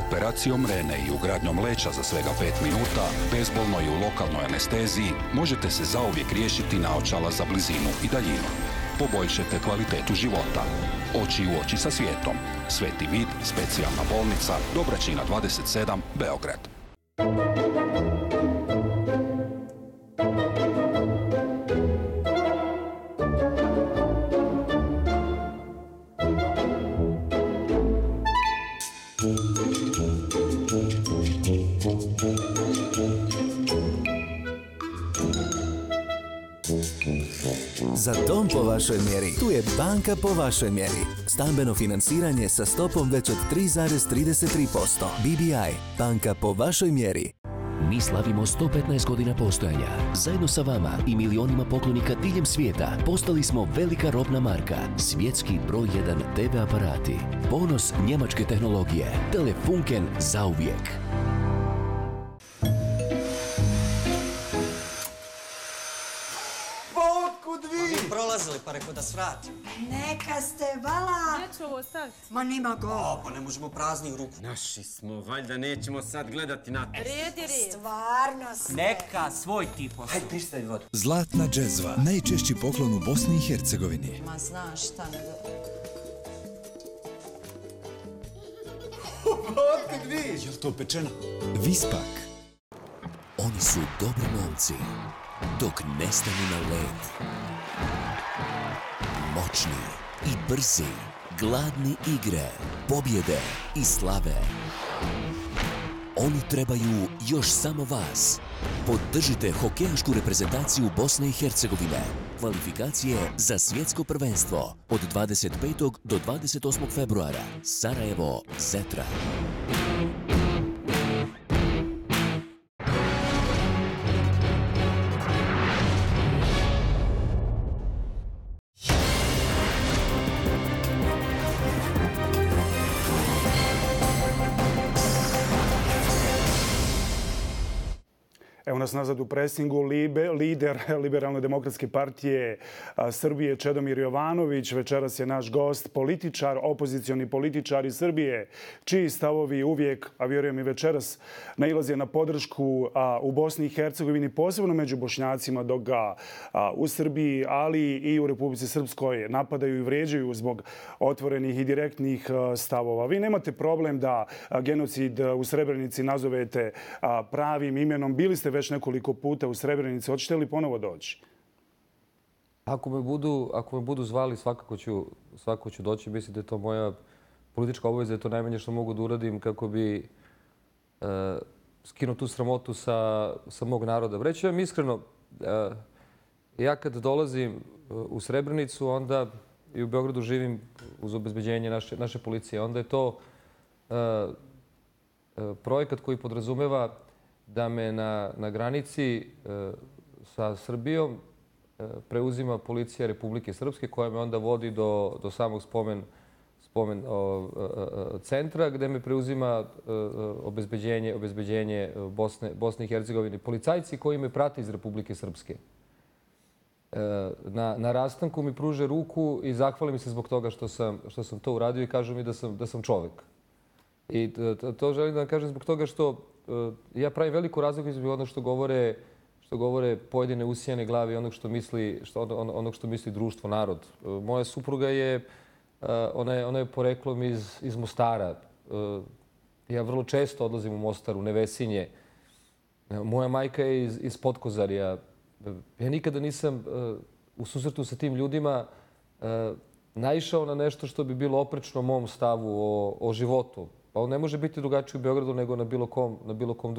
Operacijom Rene i ugradnjom leća za svega 5 minuta, bezbolno i u lokalnoj anesteziji, možete se zauvijek riješiti naočala za blizinu i daljinu. Poboljšajte kvalitetu života. Oči u oči sa svijetom. Sveti Vid, specijalna bolnica, Dobračina 27, Beograd. Za dom po vašoj mjeri, tu je banka po vašoj mjeri. Stambeno financiranje sa stopom već od 3,33%. BBI, banka po vašoj mjeri. Mi slavimo 115 godina postojanja. Zajedno sa vama i milionima poklonika diljem svijeta postali smo velika robna marka. Svjetski broj 1 TV aparati. Ponos njemačke tehnologije. Telefunken zauvijek. Prolazili pa rekao da svratim. Neka ste, vala. Gdje ću ovo staviti? Ma nima go. Pa ne možemo prazni u ruku. Naši smo, valjda nećemo sad gledati na to. Red je red. Stvarno ste. Neka svoj tip osnovu. Hajde, pristavi vodu. Zlatna džezva, najčešći poklon u Bosni i Hercegovini. Ma znaš šta ne do... Otkud vi? Je li to pečeno? Vispak. Oni su dobri momci, dok ne stanu na led. Moćni i brzi, gladni igre, pobjede i slave. Oni trebaju još samo vas. Podržite hokejašku reprezentaciju Bosne i Hercegovine. Kvalifikacije za svjetsko prvenstvo od 25. do 28. februara. Sarajevo, Zetra. Evo nas nazad u presingu, lider Liberalne demokratske partije Srbije Čedomir Jovanović. Večeras je naš gost, političar, opozicioni političar iz Srbije, čiji stavovi uvijek, a vjerujem i večeras, nailaze na podršku u Bosni i Hercegovini, posebno među Bošnjacima, dok ga u Srbiji, ali i u Republici Srpskoj napadaju i vrijeđaju zbog otvorenih i direktnih stavova. Vi nemate problem da genocid u Srebrenici nazovete pravim imenom. Bili ste već nekoliko puta u Srebrenici. Hoćete li ponovo doći? Ako me budu zvali, svakako ću doći. Mislim da je to moja politička obaveza, da je to najmanje što mogu da uradim kako bi skinuo tu sramotu sa mog naroda. Reći vam iskreno, ja kad dolazim u Srebrenicu, onda i u Beogradu živim uz obezbeđenje naše policije. Onda je to projekat koji podrazumeva da me na granici sa Srbijom preuzima policija Republike Srpske, koja me onda vodi do samog spomen centra, gde me preuzima obezbeđenje Bosne i Hercegovine. Policajci koji me prate iz Republike Srpske na rastanku mi pruže ruku i zahvale mi se zbog toga što sam to uradio i kažu mi da sam čovek. I to želim da vam kažem zbog toga što ja pravim veliku razliku između onog što govore pojedine usijane glave i onog što misli društvo, narod. Moja supruga je, ona je poreklom iz Mostara. Ja vrlo često odlazim u Mostar, u Nevesinje. Moja majka je iz Potkozarja. Ja nikada nisam u susretu sa tim ljudima naišao na nešto što bi bilo oprečno mom stavu o životu. Pa on ne može biti drugačiji u Beogradu nego na bilo kom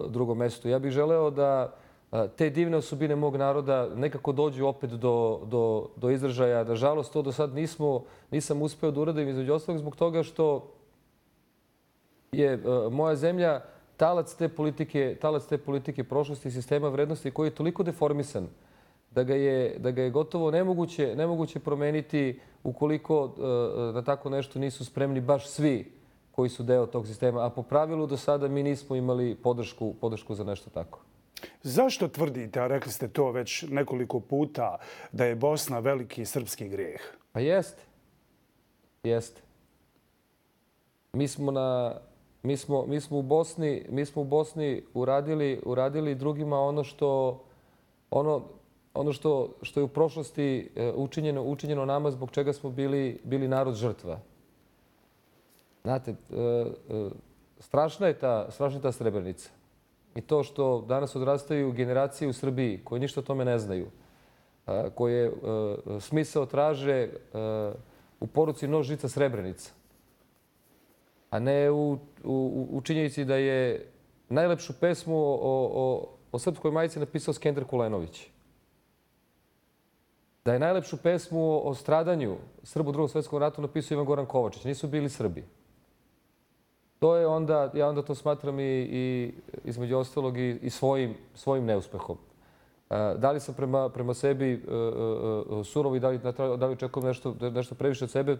drugom mestu. Ja bih želeo da te divne osobine mog naroda nekako dođu opet do izražaja. Nažalost, to do sad nisam uspeo da uradim, između ostalog zbog toga što je moja zemlja talac te politike prošlosti i sistema vrednosti koji je toliko deformisan da ga je gotovo nemoguće promeniti ukoliko na tako nešto nisu spremni baš svi koji su deo tog sistema. A po pravilu do sada mi nismo imali podršku za nešto tako. Zašto tvrdite, a rekli ste to već nekoliko puta, da je Bosna veliki srpski grijeh? Pa jeste. Jeste. mi smo u Bosni uradili drugima ono što je u prošlosti učinjeno nama, zbog čega smo bili narod žrtva. Znate, strašna je ta Srebrenica. I to što danas odrastaju generacije u Srbiji koje ništa o tome ne znaju, koje smisao traže u poruci nož, žica, Srebrenica, a ne u činjenici da je najlepšu pesmu o srpskoj majici napisao Skender Kulenović. Da je najlepšu pesmu o stradanju Srba u Drugom svjetskom ratu napisao Ivan Goran Kovačić. Nisu bili Srbi. To je onda, ja onda to smatram i između ostalog i svojim neuspehom. Da li sam prema sebi surov i da li očekujem nešto previše od sebe,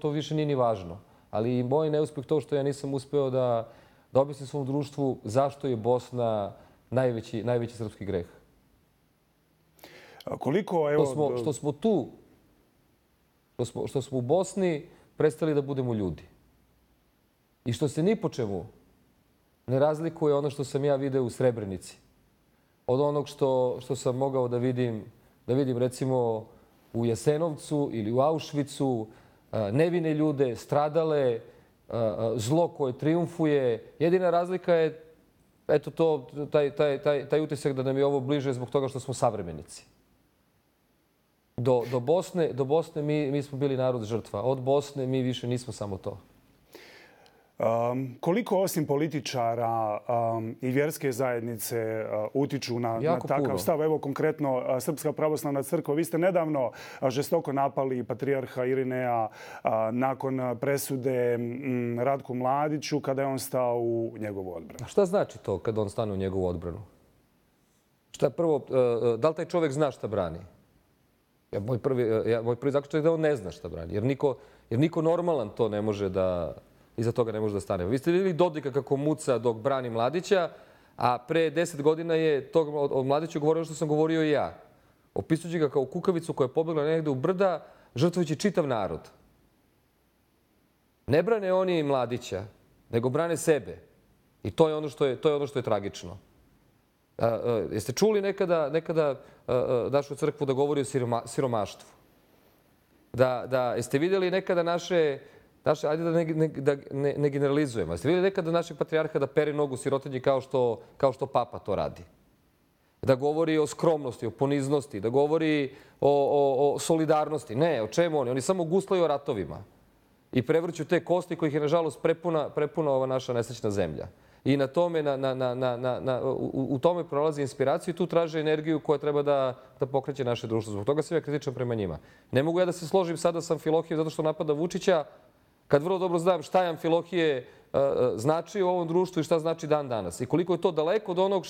to više nije ni važno. Ali i moj neuspeh to što ja nisam uspeo da objasnim svom društvu zašto je Bosna najveći srpski greh. Koliko, evo... Što smo tu, što smo u Bosni prestali da budemo ljudi. I što se ni po čemu ne razlikuje ono što sam ja video u Srebrenici. Od onog što sam mogao da vidim recimo u Jasenovcu ili u Auschwitzu, nevine ljude, stradale, zlo koje triumfuje. Jedina razlika je eto taj utisak da nam je ovo bliže zbog toga što smo savremenici. Do Bosne mi smo bili narod žrtva. Od Bosne mi više nismo samo to. Koliko osim političara i vjerske zajednice utiču na takav stav? Evo konkretno Srpska pravoslavna crkva. Vi ste nedavno žestoko napali patrijarha Irineja nakon presude Ratku Mladiću kada je on stao u njegovu odbranu. A šta znači to kada on stane u njegovu odbranu? Prvo, da li taj čovjek zna šta brani? Moj prvi zaključak je da on ne zna šta brani. Jer niko normalan to ne može da... Iza toga ne može da stane. Vi ste vidjeli Dodika kako muca dok brani Mladića, a pre 10 godina je o Mladiću govorio što sam govorio i ja. Opisujući ga kao kukavicu koja je pobjegla negde u brda, žrtvujući čitav narod. Ne brane oni Mladića, nego brane sebe. I to je ono što je tragično. Jeste čuli nekada našu crkvu da govori o siromaštvu? Jeste vidjeli nekada naše, ajde da ne generalizujemo, jeste vidjeli nekada našeg patrijarha da pere nogu sirotinji kao što papa to radi? Da govori o skromnosti, o poniznosti, da govori o solidarnosti. Ne, o čemu oni? Oni samo guslaju o ratovima i prevrću te kosti kojih je, nažalost, prepuna ova naša nesrećna zemlja. I na tome, u tome prolazi inspiraciju i tu traže energiju koja treba da pokreće naše društvo. Zbog toga sam ja kritičan prema njima. Ne mogu ja da se složim sada sa Amfilohijem zato što napada Vučića, kad vrlo dobro znam šta je Amfilohije znači u ovom društvu i šta znači dan danas. I koliko je to daleko od onog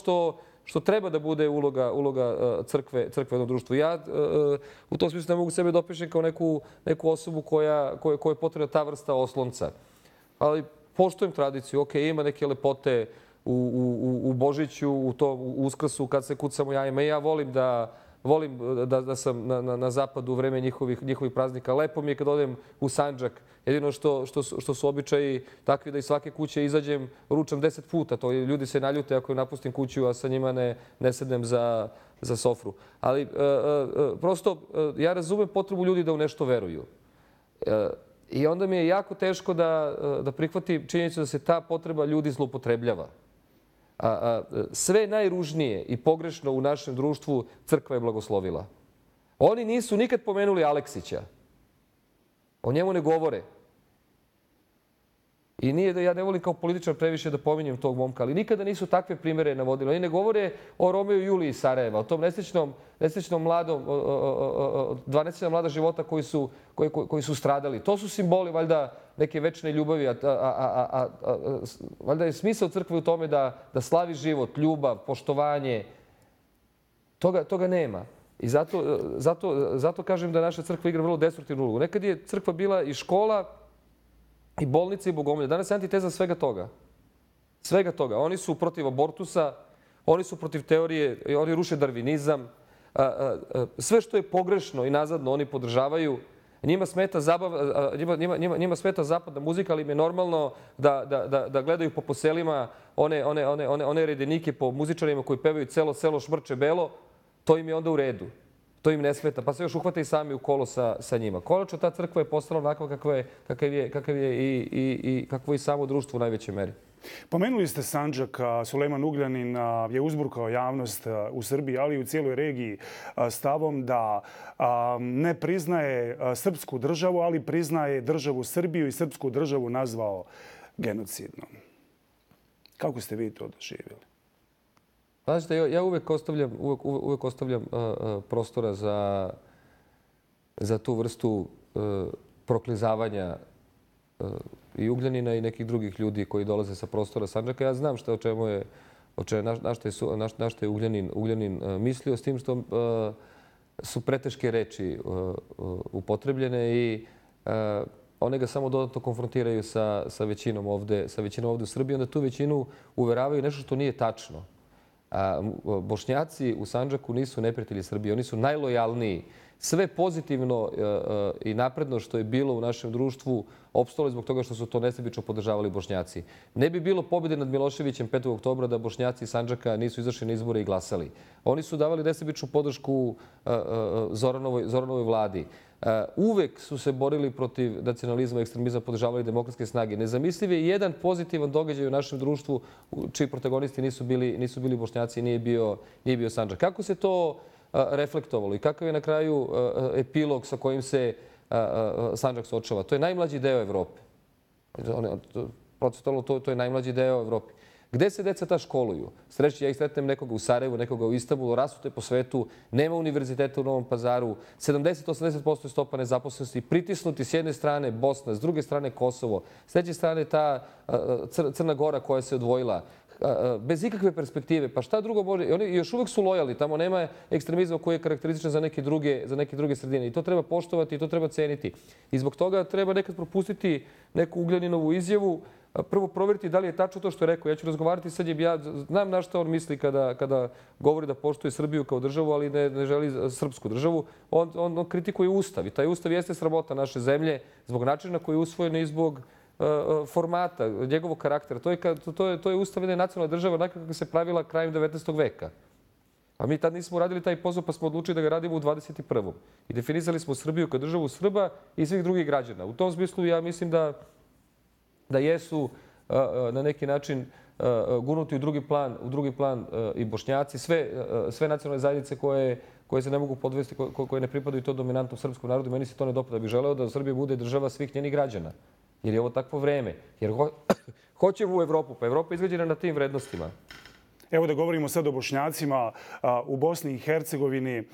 što treba da bude uloga crkve u jednom društvu. Ja u tom smislu ne mogu sebe dopišem kao neku osobu koja je potrebna ta vrsta oslonca. Ali poštujem tradiciju. Ok, ima neke lepote u Božiću, u Uskrsu kad se kucamo jajima. I ja volim da sam na zapadu u vreme njihovih praznika. Lepo mi je kad odem u Sandžak. Jedino što su običaji takvi da iz svake kuće izađem, ručam 10 puta. To ljudi se naljute ako napustim kuću, a sa njima ne sednem za sofru. Ali prosto ja razumem potrebu ljudi da u nešto veruju. I onda mi je jako teško da prihvatim činjenicu da se ta potreba ljudi zloupotrebljava. Sve najružnije i pogrešno u našem društvu crkva je blagoslovila. Oni nisu nikad pomenuli Aleksića. O njemu ne govore. I nije da ja ne volim kao političar previše da pominjem tog momka, ali nikada nisu takve primere navodili. Oni ne govore o Romeu i Juliji iz Sarajeva, o tom nesrećnom mladom, dva nesrećna mlada života koji su stradali. To su simboli, valjda, neke večne ljubavi. Valjda je smisao crkve u tome da slavi život, ljubav, poštovanje. Toga nema. I zato kažem da naša crkva igra vrlo destruktivnu ulogu. Nekad je crkva bila i škola, i bolnice i bogomolje. Danas je antiteza svega toga. Svega toga. Oni su protiv abortusa, oni su protiv teorije, oni ruše darvinizam. Sve što je pogrešno i nazadno oni podržavaju. Njima smeta zapadna muzika, ali im je normalno da gledaju po selima one redenike po muzičarima koji pevaju celo selo šmrče belo. To im je onda u redu. To im ne smeta, pa se još uhvate i sami u kolo sa njima. Konačno ta crkva je postala onako kakav je i samo društvo u najvećoj meri. Pomenuli ste Sandžak. Sulejman Ugljanin je uzburkao javnost u Srbiji, ali i u cijeloj regiji stavom da ne priznaje srpsku državu, ali priznaje državu Srbiju i srpsku državu nazvao genocidnom. Kako ste vi to doživjeli? Znači, ja uvek ostavljam prostora za tu vrstu proklizavanja i Ugljanina i nekih drugih ljudi koji dolaze sa prostora Sandžaka. Ja znam na što je Ugljanin mislio, s tim što su preteške reči upotrebljene i one ga samo dodatno konfrontiraju sa većinom ovde u Srbiji. Onda tu većinu uveravaju nešto što nije tačno. Bošnjaci u Sandžaku nisu neprijatelji Srbije, oni su najlojalniji. Sve pozitivno i napredno što je bilo u našem društvu opstalo zbog toga što su to nesebično podržavali Bošnjaci. Ne bi bilo pobjede nad Miloševićem 5. oktobra da Bošnjaci iz Sandžaka nisu izašli na izbore i glasali. Oni su davali nesebičnu podršku Zoranovoj vladi. Uvek su se borili protiv nacionalizma i ekstremizma, podržavali demokratske snage. Nezamisliv je jedan pozitivan događaj u našem društvu čiji protagonisti nisu bili Bošnjaci i nije bio Sandžak. Kako se to reflektovalo i kakav je na kraju epilog sa kojim se Sandžak suočava? To je najmlađi deo Evrope. Procentualno to je najmlađi deo Evrope. Gde se deca ta školuju? Ja ih sretnem nekoga u Sarajevu, nekoga u Istanbulu, rasute po svetu, nema univerziteta u Novom Pazaru, 70-80% je stopa nezaposlenosti, pritisnuti s jedne strane Bosna, s druge strane Kosovo, s treće strane ta Crna Gora koja se odvojila, bez ikakve perspektive. Pa šta drugo može? Oni još uvek su lojali, tamo nema ekstremizma koji je karakterističan za neke druge sredine. I to treba poštovati i to treba ceniti. I zbog toga treba nekad propustiti neku Ugljaninovu izjavu, prvo provjeriti da li je tačno to što je rekao. Ja ću razgovarati sa njim, ja znam na što on misli kada govori da poštuje Srbiju kao državu, ali ne želi srpsku državu. On kritikuje Ustav i taj Ustav jeste sramota naše zemlje zbog načina na koji je usvojen i zbog formata, njegovog karaktera. To je Ustav jedne nacionalne države onako kako se pravila krajem 19. veka. A mi tad nismo uradili taj posao pa smo odlučili da ga radimo u 21. I definisali smo Srbiju kao državu Srba i svih drugih građana. U tom smislu ja mislim da jesu na neki način gurnuti u drugi plan i Bošnjaci, sve nacionalne zajednice koje se ne mogu podvesti, koje ne pripadaju to dominantnom srpskom narodu. Meni se to ne dopada. Da bih želeo da Srbija bude država svih njenih građana. Jer je ovo takvo vreme. Jer hoćemo u Evropu. Pa Evropa je izgrađena na tim vrednostima. Evo da govorimo sad o Bošnjacima u Bosni i Hercegovini.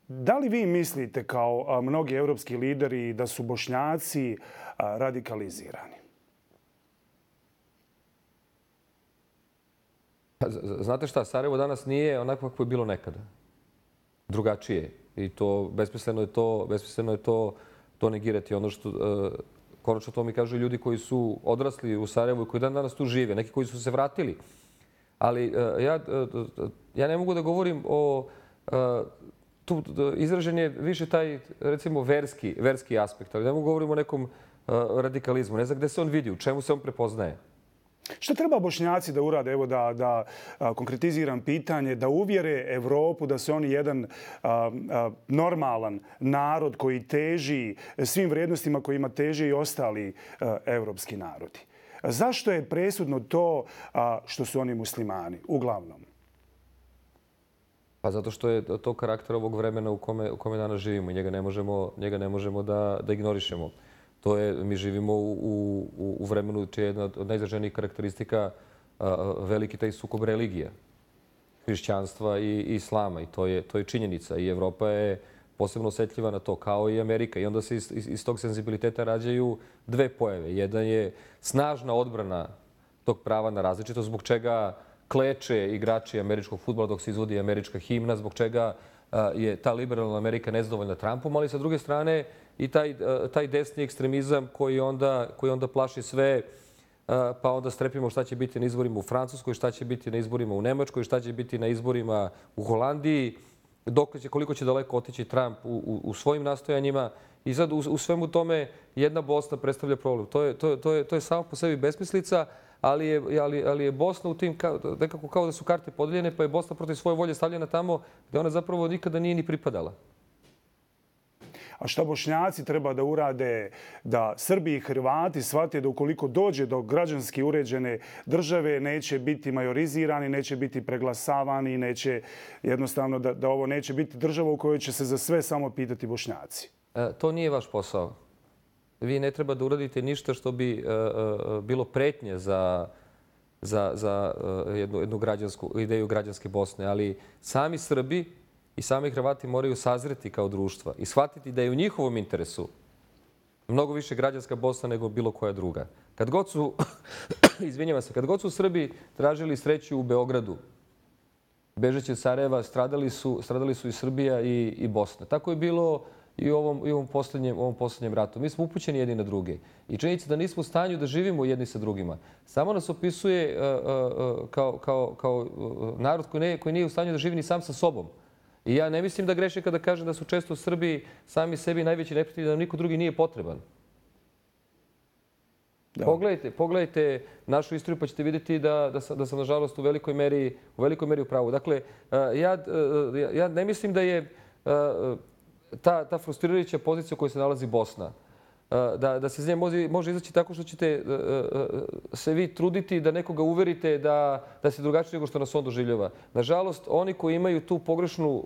Da li vi mislite kao mnogi evropski lideri da su Bošnjaci radikalizirani? Znate šta, Sarajevo danas nije onako kako je bilo nekada. Drugačije. I to besmisleno je to negirati. Ono što konačno to mi kažu ljudi koji su odrasli u Sarajevu i koji dan danas tu žive, neki koji su se vratili. Ali ja ne mogu da govorim o... Izražen je više taj, recimo, verski aspekt, ali ne mogu da govorim o nekom radikalizmu. Ne znam gde se on vidi, u čemu se on prepoznaje. Šta treba Bošnjaci da urade? Evo da konkretiziram pitanje, da uvjere Evropu da su oni jedan normalan narod koji teži svim vrijednostima kojima teže i ostali evropski narodi. Zašto je presudno to što su oni muslimani, uglavnom? Pa zato što je to karakter ovog vremena u kome danas živimo i njega ne možemo da ignorišemo. Mi živimo u vremenu čija je jedna od najizraženijih karakteristika veliki taj sukob religija, hrišćanstva i islama. I to je činjenica. I Evropa je posebno osjetljiva na to, kao i Amerika. I onda se iz tog senzibiliteta rađaju dve pojave. Jedan je snažna odbrana tog prava na različitost, zbog čega kleče igrači američkog fudbala dok se izvodi američka himna, zbog čega je ta liberalna Amerika nezadovoljna Trumpom, ali sa druge strane i taj desni ekstremizam koji onda plaši sve, pa onda strepimo šta će biti na izborima u Francuskoj, šta će biti na izborima u Nemačkoj, šta će biti na izborima u Holandiji, koliko će daleko otići Trump u svojim nastojanjima. i sad u svemu tome jedna Bosna predstavlja problem. To je samo po sebi besmislica, ali je Bosna u tim nekako kao da su karte podeljene, pa je Bosna protiv svoje volje stavljena tamo gde ona zapravo nikada nije ni pripadala. A šta Bošnjaci treba da urade da Srbi i Hrvati shvate da ukoliko dođe do građanski uređene države neće biti majorizirani, neće biti preglasavani, neće jednostavno da ovo neće biti država u kojoj će se za sve samo pitati Bošnjaci? To nije vaš posao. Vi ne treba da uradite ništa što bi bilo pretnje za jednu ideju građanske Bosne, ali sami Srbi i sami Hrvati moraju sazreti kao društva i shvatiti da je u njihovom interesu mnogo više građanska Bosna nego bilo koja druga. Kad god su, izvinjavam se, kad god su Srbi tražili sreću u Beogradu, bežeći od Sarajeva, stradali su i Srbija i Bosna. Tako je bilo i u ovom posljednjem ratu. Mi smo upućeni jedni na druge. I činjenica da nismo u stanju da živimo jedni sa drugima samo nas opisuje kao narod koji nije u stanju da živi ni sam sa sobom. I ja ne mislim da grešim kada kažem da su često Srbi sami sebi najveći neprijatelji, da nam niko drugi nije potreban. Pogledajte našu istoriju pa ćete vidjeti da sam nažalost u velikoj meri u pravu. Dakle, ja ne mislim da je ta frustrirajuća pozicija u kojoj se nalazi Bosna, da se iz nje može izaći tako što ćete se vi truditi da nekoga uverite da se drugačije nego što nas on doživljava. Nažalost, oni koji imaju tu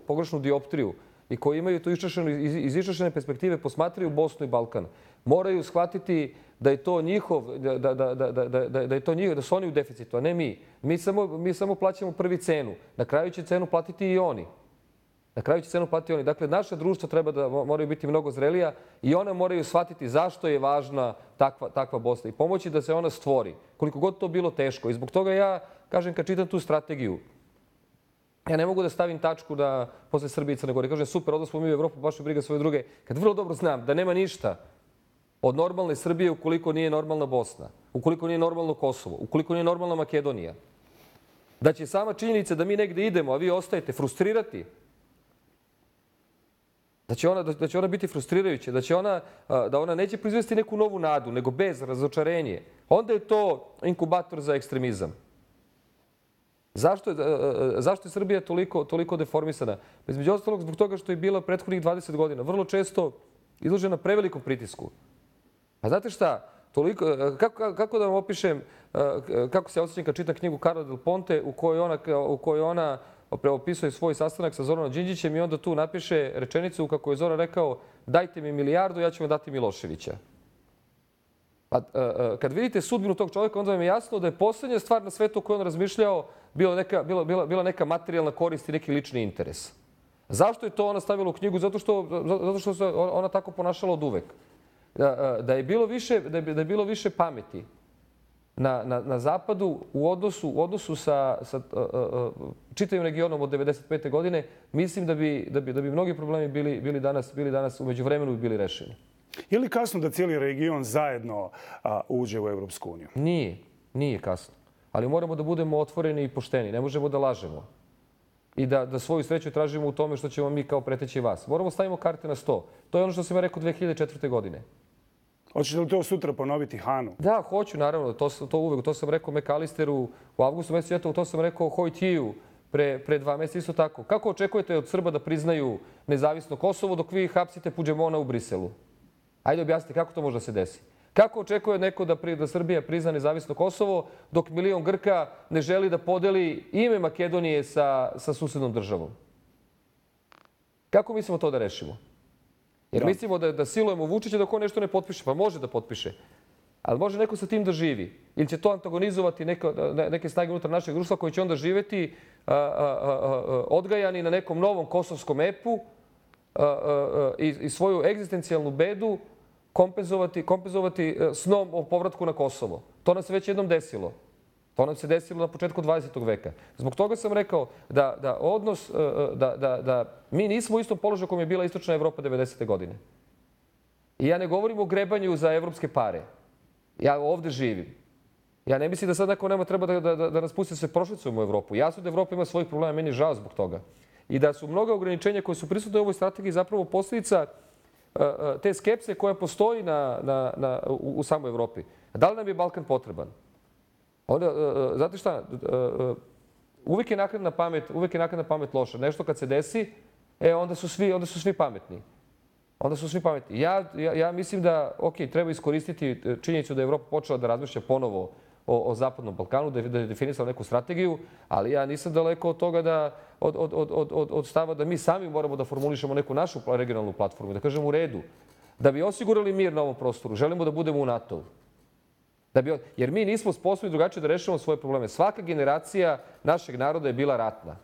pogrešnu dioptriju i koji imaju tu iz iščašene perspektive posmatraju Bosnu i Balkan, moraju shvatiti da je to njihov, da su oni u deficitu, a ne mi. Mi samo plaćamo prvi cenu. Na kraju će cenu platiti i oni. Dakle, naša društva treba da moraju biti mnogo zrelija i ona moraju shvatiti zašto je važna takva Bosna i pomoći da se ona stvori, koliko god to bilo teško. I zbog toga ja kažem, kad čitam tu strategiju, ja ne mogu da stavim tačku da posle Srbije i Crne Gore. Kažem, super, odnosno mi u Evropu, baš je briga svoje druge. Kad vrlo dobro znam da nema ništa od normalne Srbije ukoliko nije normalna Bosna, ukoliko nije normalno Kosovo, ukoliko nije normalna Makedonija, da će sama činjenica da mi negde idemo, a vi ostajete, frustrirati, da će ona biti frustrirajuća, da ona neće proizvesti neku novu nadu, nego bez razočarenje. Onda je to inkubator za ekstremizam. Zašto je Srbija toliko deformisana? Između ostalog zbog toga što je bila prethodnih 20 godina vrlo često izložena prevelikom pritisku. A znate šta? Kako da vam opišem kako se osjećam kad čitam knjigu Carla Del Ponte u kojoj ona opisuje svoj sastanak sa Zoranom Đinđićem i onda tu napiše rečenicu kako je Zoran rekao: dajte mi milijardu, ja ću vam dati Miloševića. Pa, kad vidite sudbinu tog čovjeka, onda vam je jasno da je poslednja stvar na svetu o kojoj on razmišljao bila neka materijalna korist i neki lični interes. Zašto je to ona stavila u knjigu? Zato što se ona tako ponašala od uvek. Da je bilo više pameti na zapadu u odnosu sa čitavim regionom od 1995. godine, mislim da bi mnogi problemi bili danas u međuvremenu bili rešeni. Je li kasno da cijeli region zajedno uđe u Evropsku uniju? Nije kasno. Ali moramo da budemo otvoreni i pošteni. Ne možemo da lažemo. I da svoju sreću tražimo u tome što ćemo mi kao preteći vas. Moramo stavimo karte na sto. To je ono što sam ja rekao 2004. godine. Hoćete li to sutra ponoviti Hanu? Da, hoću, naravno. To uvek. To sam rekao McAllisteru u avgustu mesecu. To sam rekao Hojtiju pre 2 meseca isto tako. Kako očekujete od Srba da priznaju nezavisno Kosovo dok vi hapsite Puđemona u Briselu? Ajde objasnite kako to može da se desi. Kako očekuje neko da Srbija prizna nezavisno Kosovo dok milion Grka ne želi da podeli ime Makedonije sa susednom državom? Kako mislimo to da rešimo? Jer mislimo da silujemo Vučića dok on nešto ne potpiše. Pa može da potpiše. Ali može neko sa tim da živi. Ili će to antagonizovati neke snage unutar našeg društva koji će onda živeti odgajani na nekom novom kosovskom epu i svoju egzistencijalnu bedu kompenzovati snom o povratku na Kosovo. To nam se već jednom desilo. To nam se desilo na početku 20. veka. Zbog toga sam rekao da mi nismo u istom položaju kojem je bila Istočna Evropa 90. godine. I ja ne govorim o grebanju za evropske pare. Ja ovde živim. Ja ne mislim da sad neko nema treba da nas pusti da se prošlicujemo u Evropu. Jasno da Evropa ima svojih problema, meni je žao zbog toga. I da su mnoga ograničenja koje su prisutne u ovoj strategiji zapravo posljedica te skepse koja postoji u samoj Evropi. Da li nam je Balkan potreban? Znate šta, uvijek je naknadna pamet loša. Nešto kad se desi, onda su svi pametni. Ja mislim da, treba iskoristiti činjenicu da je Evropa počela da razmišlja ponovo o Zapadnom Balkanu, da je definisala neku strategiju, ali ja nisam daleko od toga od stava da mi sami moramo da formulišemo neku našu regionalnu platformu, da kažemo u redu, da bi osigurali mir na ovom prostoru, želimo da budemo u NATO-u. Jer mi nismo sposobni drugačije da rešimo svoje probleme. Svaka generacija našeg naroda je bila ratna.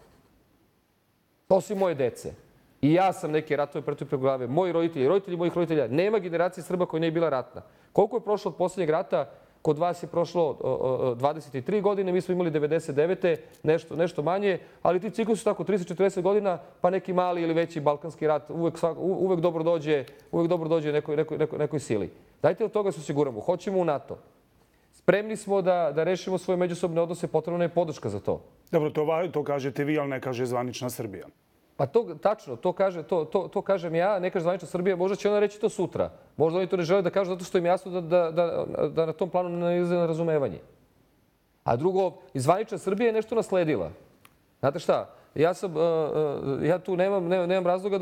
Osim moje dece. I ja sam neke ratove pretrpeo preko glave. Moji roditelji, roditelji mojih roditelja. Nema generacije Srba koja nije bila ratna. Koliko je prošlo od posljednjeg rata? Kod vas je prošlo 23 godine, mi smo imali 99. nešto manje, ali ti ciklusi su tako 30-40 godina, pa neki mali ili veći balkanski rat uvek dobro dođe nekoj sili. Dajte od toga se osiguramo. Hoćemo u NATO. Spremni smo da rešimo svoje međusobne odnose, potrebna je podrška za to. Dobro, to kažete vi, ali ne kaže zvanična Srbija. Pa tačno, to kažem ja, ne kaže zvanična Srbija, možda će ona reći to sutra. Možda oni to ne žele da kažu zato što im jasno da na tom planu ne nailaze na razumevanje. A drugo, zvanična Srbija je nešto nasledila. Znate šta, ja tu nemam razloga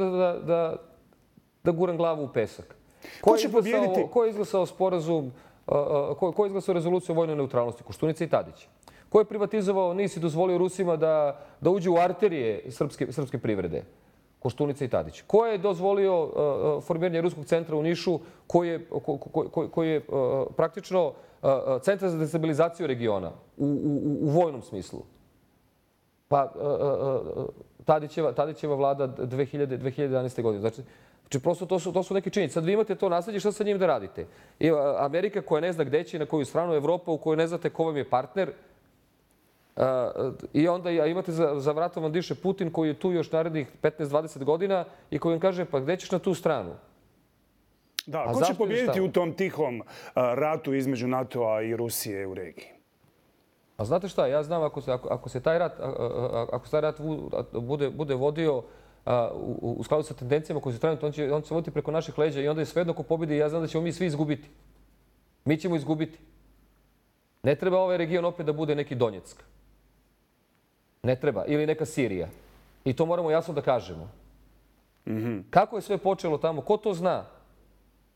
da guram glavu u pesak. Ko je izglasao sporazum, ko je izglasao rezoluciju o vojnoj neutralnosti? Koštunica i Tadić. Ko je privatizovao NIS i dozvolio Rusima da uđu u arterije srpske privrede? Koštunica i Tadić. Ko je dozvolio formiranje Ruskog centra u Nišu koji je praktično centar za destabilizaciju regiona u vojnom smislu? Pa Tadićeva vlada 2011. godine. Znači, prosto to su neke činjenice. Sad vi imate to nasledđe, šta sa njim da radite? Amerika koja ne zna gde će, na koju stranu, Evropa u kojoj ne znate ko vam je partner, i onda imate za vratom vam diše Putin koji je tu još narednih 15-20 godina i koji vam kaže pa gde ćeš na tu stranu? Da, ko će pobijediti u tom tihom ratu između NATO-a i Rusije u regiji? A znate šta, ja znam ako se taj rat bude vodio u skladu sa tendencijama koje su trenutno, on će se voditi preko naših leđa i onda je svejedno ko pobedi. Ja znam da ćemo mi svi izgubiti. Mi ćemo izgubiti. Ne treba ovaj region opet da bude neki Donjeck. Ne treba. Ili neka Sirija. I to moramo jasno da kažemo. Kako je sve počelo tamo? Ko to zna?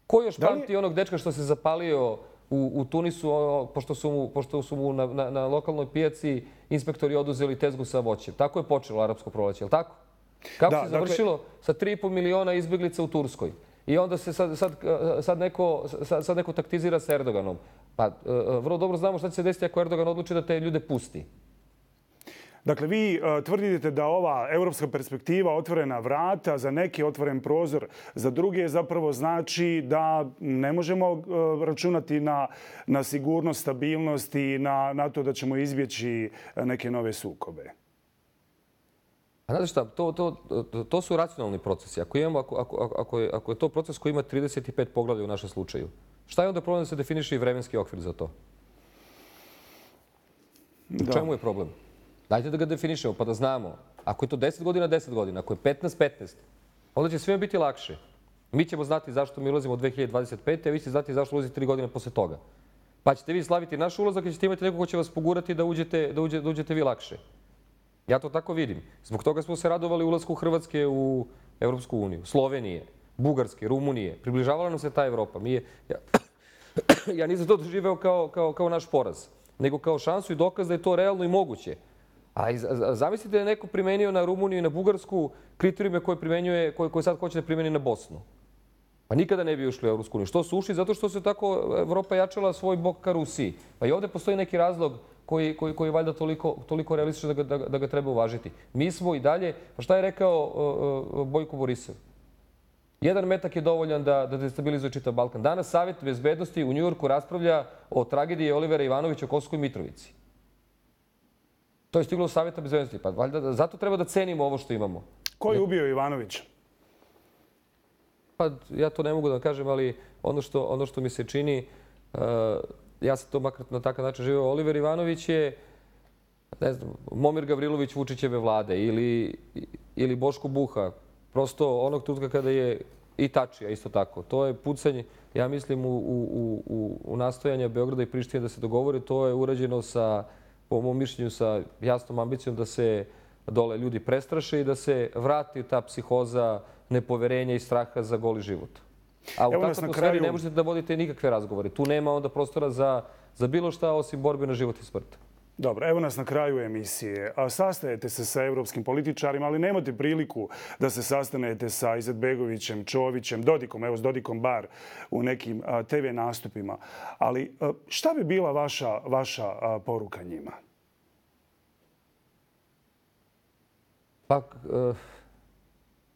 Ko još pamti onog dečka što se zapalio u Tunisu, pošto su mu na lokalnoj pijaci inspektori oduzeli tezgu sa voćem? Tako je počelo arapsko proleće, je li tako? Kako se završilo sa 3,5 miliona izbjeglica u Turskoj? I onda se sad neko taktizira sa Erdoganom. Pa vrlo dobro znamo šta će se desiti ako Erdogan odluči da te ljude pusti. Dakle, vi tvrdite da ova evropska perspektiva, otvorena vrata, za neke otvoren prozor, za druge zapravo znači da ne možemo računati na sigurnost, stabilnost i na to da ćemo izbjeći neke nove sukobe. A znate šta, to su racionalni procesi. Ako je to proces koji ima 35 poglavlja u našem slučaju, šta je onda problem da se definiše i vremenski okvir za to? U čemu je problem? Dajte da ga definišemo pa da znamo. Ako je to 10 godina, 10 godina. Ako je 15, 15. Onda će svima biti lakše. Mi ćemo znati zašto mi ulazimo u 2025. a vi ćete znati zašto ulazite 3 godine posle toga. Pa ćete vi slaviti naš ulazak i ćete imati neko ko će vas pogurati da uđete vi lakše. Ja to tako vidim. Zbog toga smo se radovali ulasku Hrvatske u Evropsku uniju, Slovenije, Bugarske, Rumunije. Približavala nam se ta Evropa. Ja nisam to doživeo kao naš poraz, nego kao šansu i dokaz da je to realno i moguće. A zamislite da je neko primenio na Rumuniju i na Bugarsku kriterijume koje sad hoće da primeni na Bosnu. Pa nikada ne bi ušli u Evropsku uniju. Što su ušli? Zato što se tako Evropa jačala svoj bok ka Rusiji. Pa i ovdje postoji neki razlog koji je valjda toliko realističan da ga treba uvažiti. Mi smo i dalje, pa šta je rekao Bojko Borisov? Jedan metak je dovoljan da destabilizuje čitav Balkan. Danas Savjet bezbednosti u Njujorku raspravlja o tragediji Olivera Ivanovića u Kosovskoj Mitrovici. To je stiglo u Savjeta bezbednosti. Pa valjda zato treba da cenimo ovo što imamo. Ko je ubio Ivanovića? Pa ja to ne mogu da kažem, ali ono što mi se čini, ja sam to makar na takav način živio. Oliver Ivanović je, ne znam, Momir Gavrilović Vučićeve vlade ili Boško Buha. Prosto onog trenutka kada je i Tačija isto tako. To je pucanje, ja mislim, u nastojanja Beograda i Prištine da se dogovore. To je urađeno sa, po mom mišljenju, sa jasnom ambicijom da se dole ljudi prestraše i da se vrati ta psihoza nepoverenja i straha za goli život. A u takvoj atmosferi ne možete da vodite nikakve razgovore. Tu nema onda prostora za bilo šta osim borbe na život i smrt. Dobro, evo nas na kraju emisije. Sastajete se sa evropskim političarima, ali nemate priliku da se sastanete sa Izetbegovićem, Čovićem, Dodikom, evo s Dodikom bar u nekim TV nastupima. Ali šta bi bila vaša poruka njima? Pa,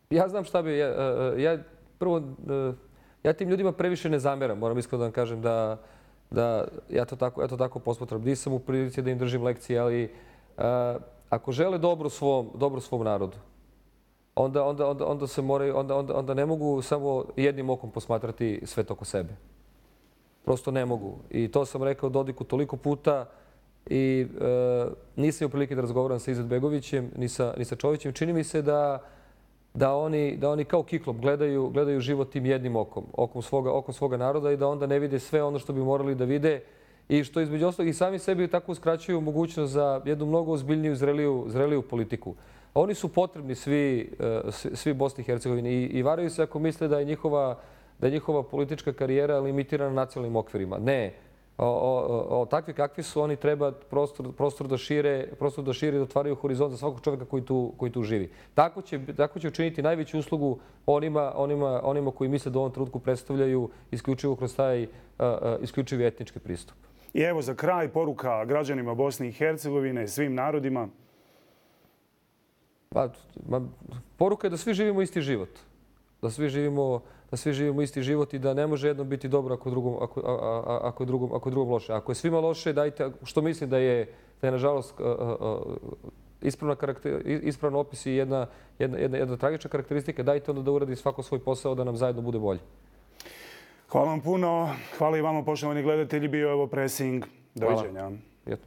ja znam šta bi... Prvo, ja tim ljudima previše ne zameram. Moram iskreno da vam kažem da ja to tako posmatram. Nisam u prilici da im držim lekcije, ali ako žele dobro svom narodu, onda ne mogu samo jednim okom posmatrati svet oko sebe. Prosto ne mogu. I to sam rekao Dodiku toliko puta i nisam u prilike da razgovaram sa Izetbegovićem ni sa Čovićem. Čini mi se da oni kao kiklop gledaju život tim jednim okom svoga naroda i da onda ne vide sve ono što bi morali da vide i što između ostalog i sami sebi tako uskraćuju mogućnost za jednu mnogo ozbiljniju, zreliju politiku. Oni su potrebni svi Bosni i Hercegovini i varaju se ako misle da je njihova politička karijera limitirana nacionalnim okvirima. Ne. Takvi kakvi su, oni treba prostor da šire i da otvaraju horizont za svakog čovjeka koji tu živi. Tako će učiniti najveću uslugu onima koji misle da u ovom trenutku predstavljaju isključivo kroz taj isključivi etnički pristup. I evo za kraj poruka građanima Bosne i Hercegovine, svim narodima. Poruka je da svi živimo isti život. Da svi živimo isti život i da ne može jednom biti dobro ako je drugom loše. Ako je svima loše, dajte, što mislim da je nažalost ispravno opis i jedna tragična karakteristika, dajte onda da uradi svako svoj posao da nam zajedno bude bolje. Hvala vam puno. Hvala i vama, poštovani gledatelji. Bio je ovo Pressing. Doviđenja. Hvala.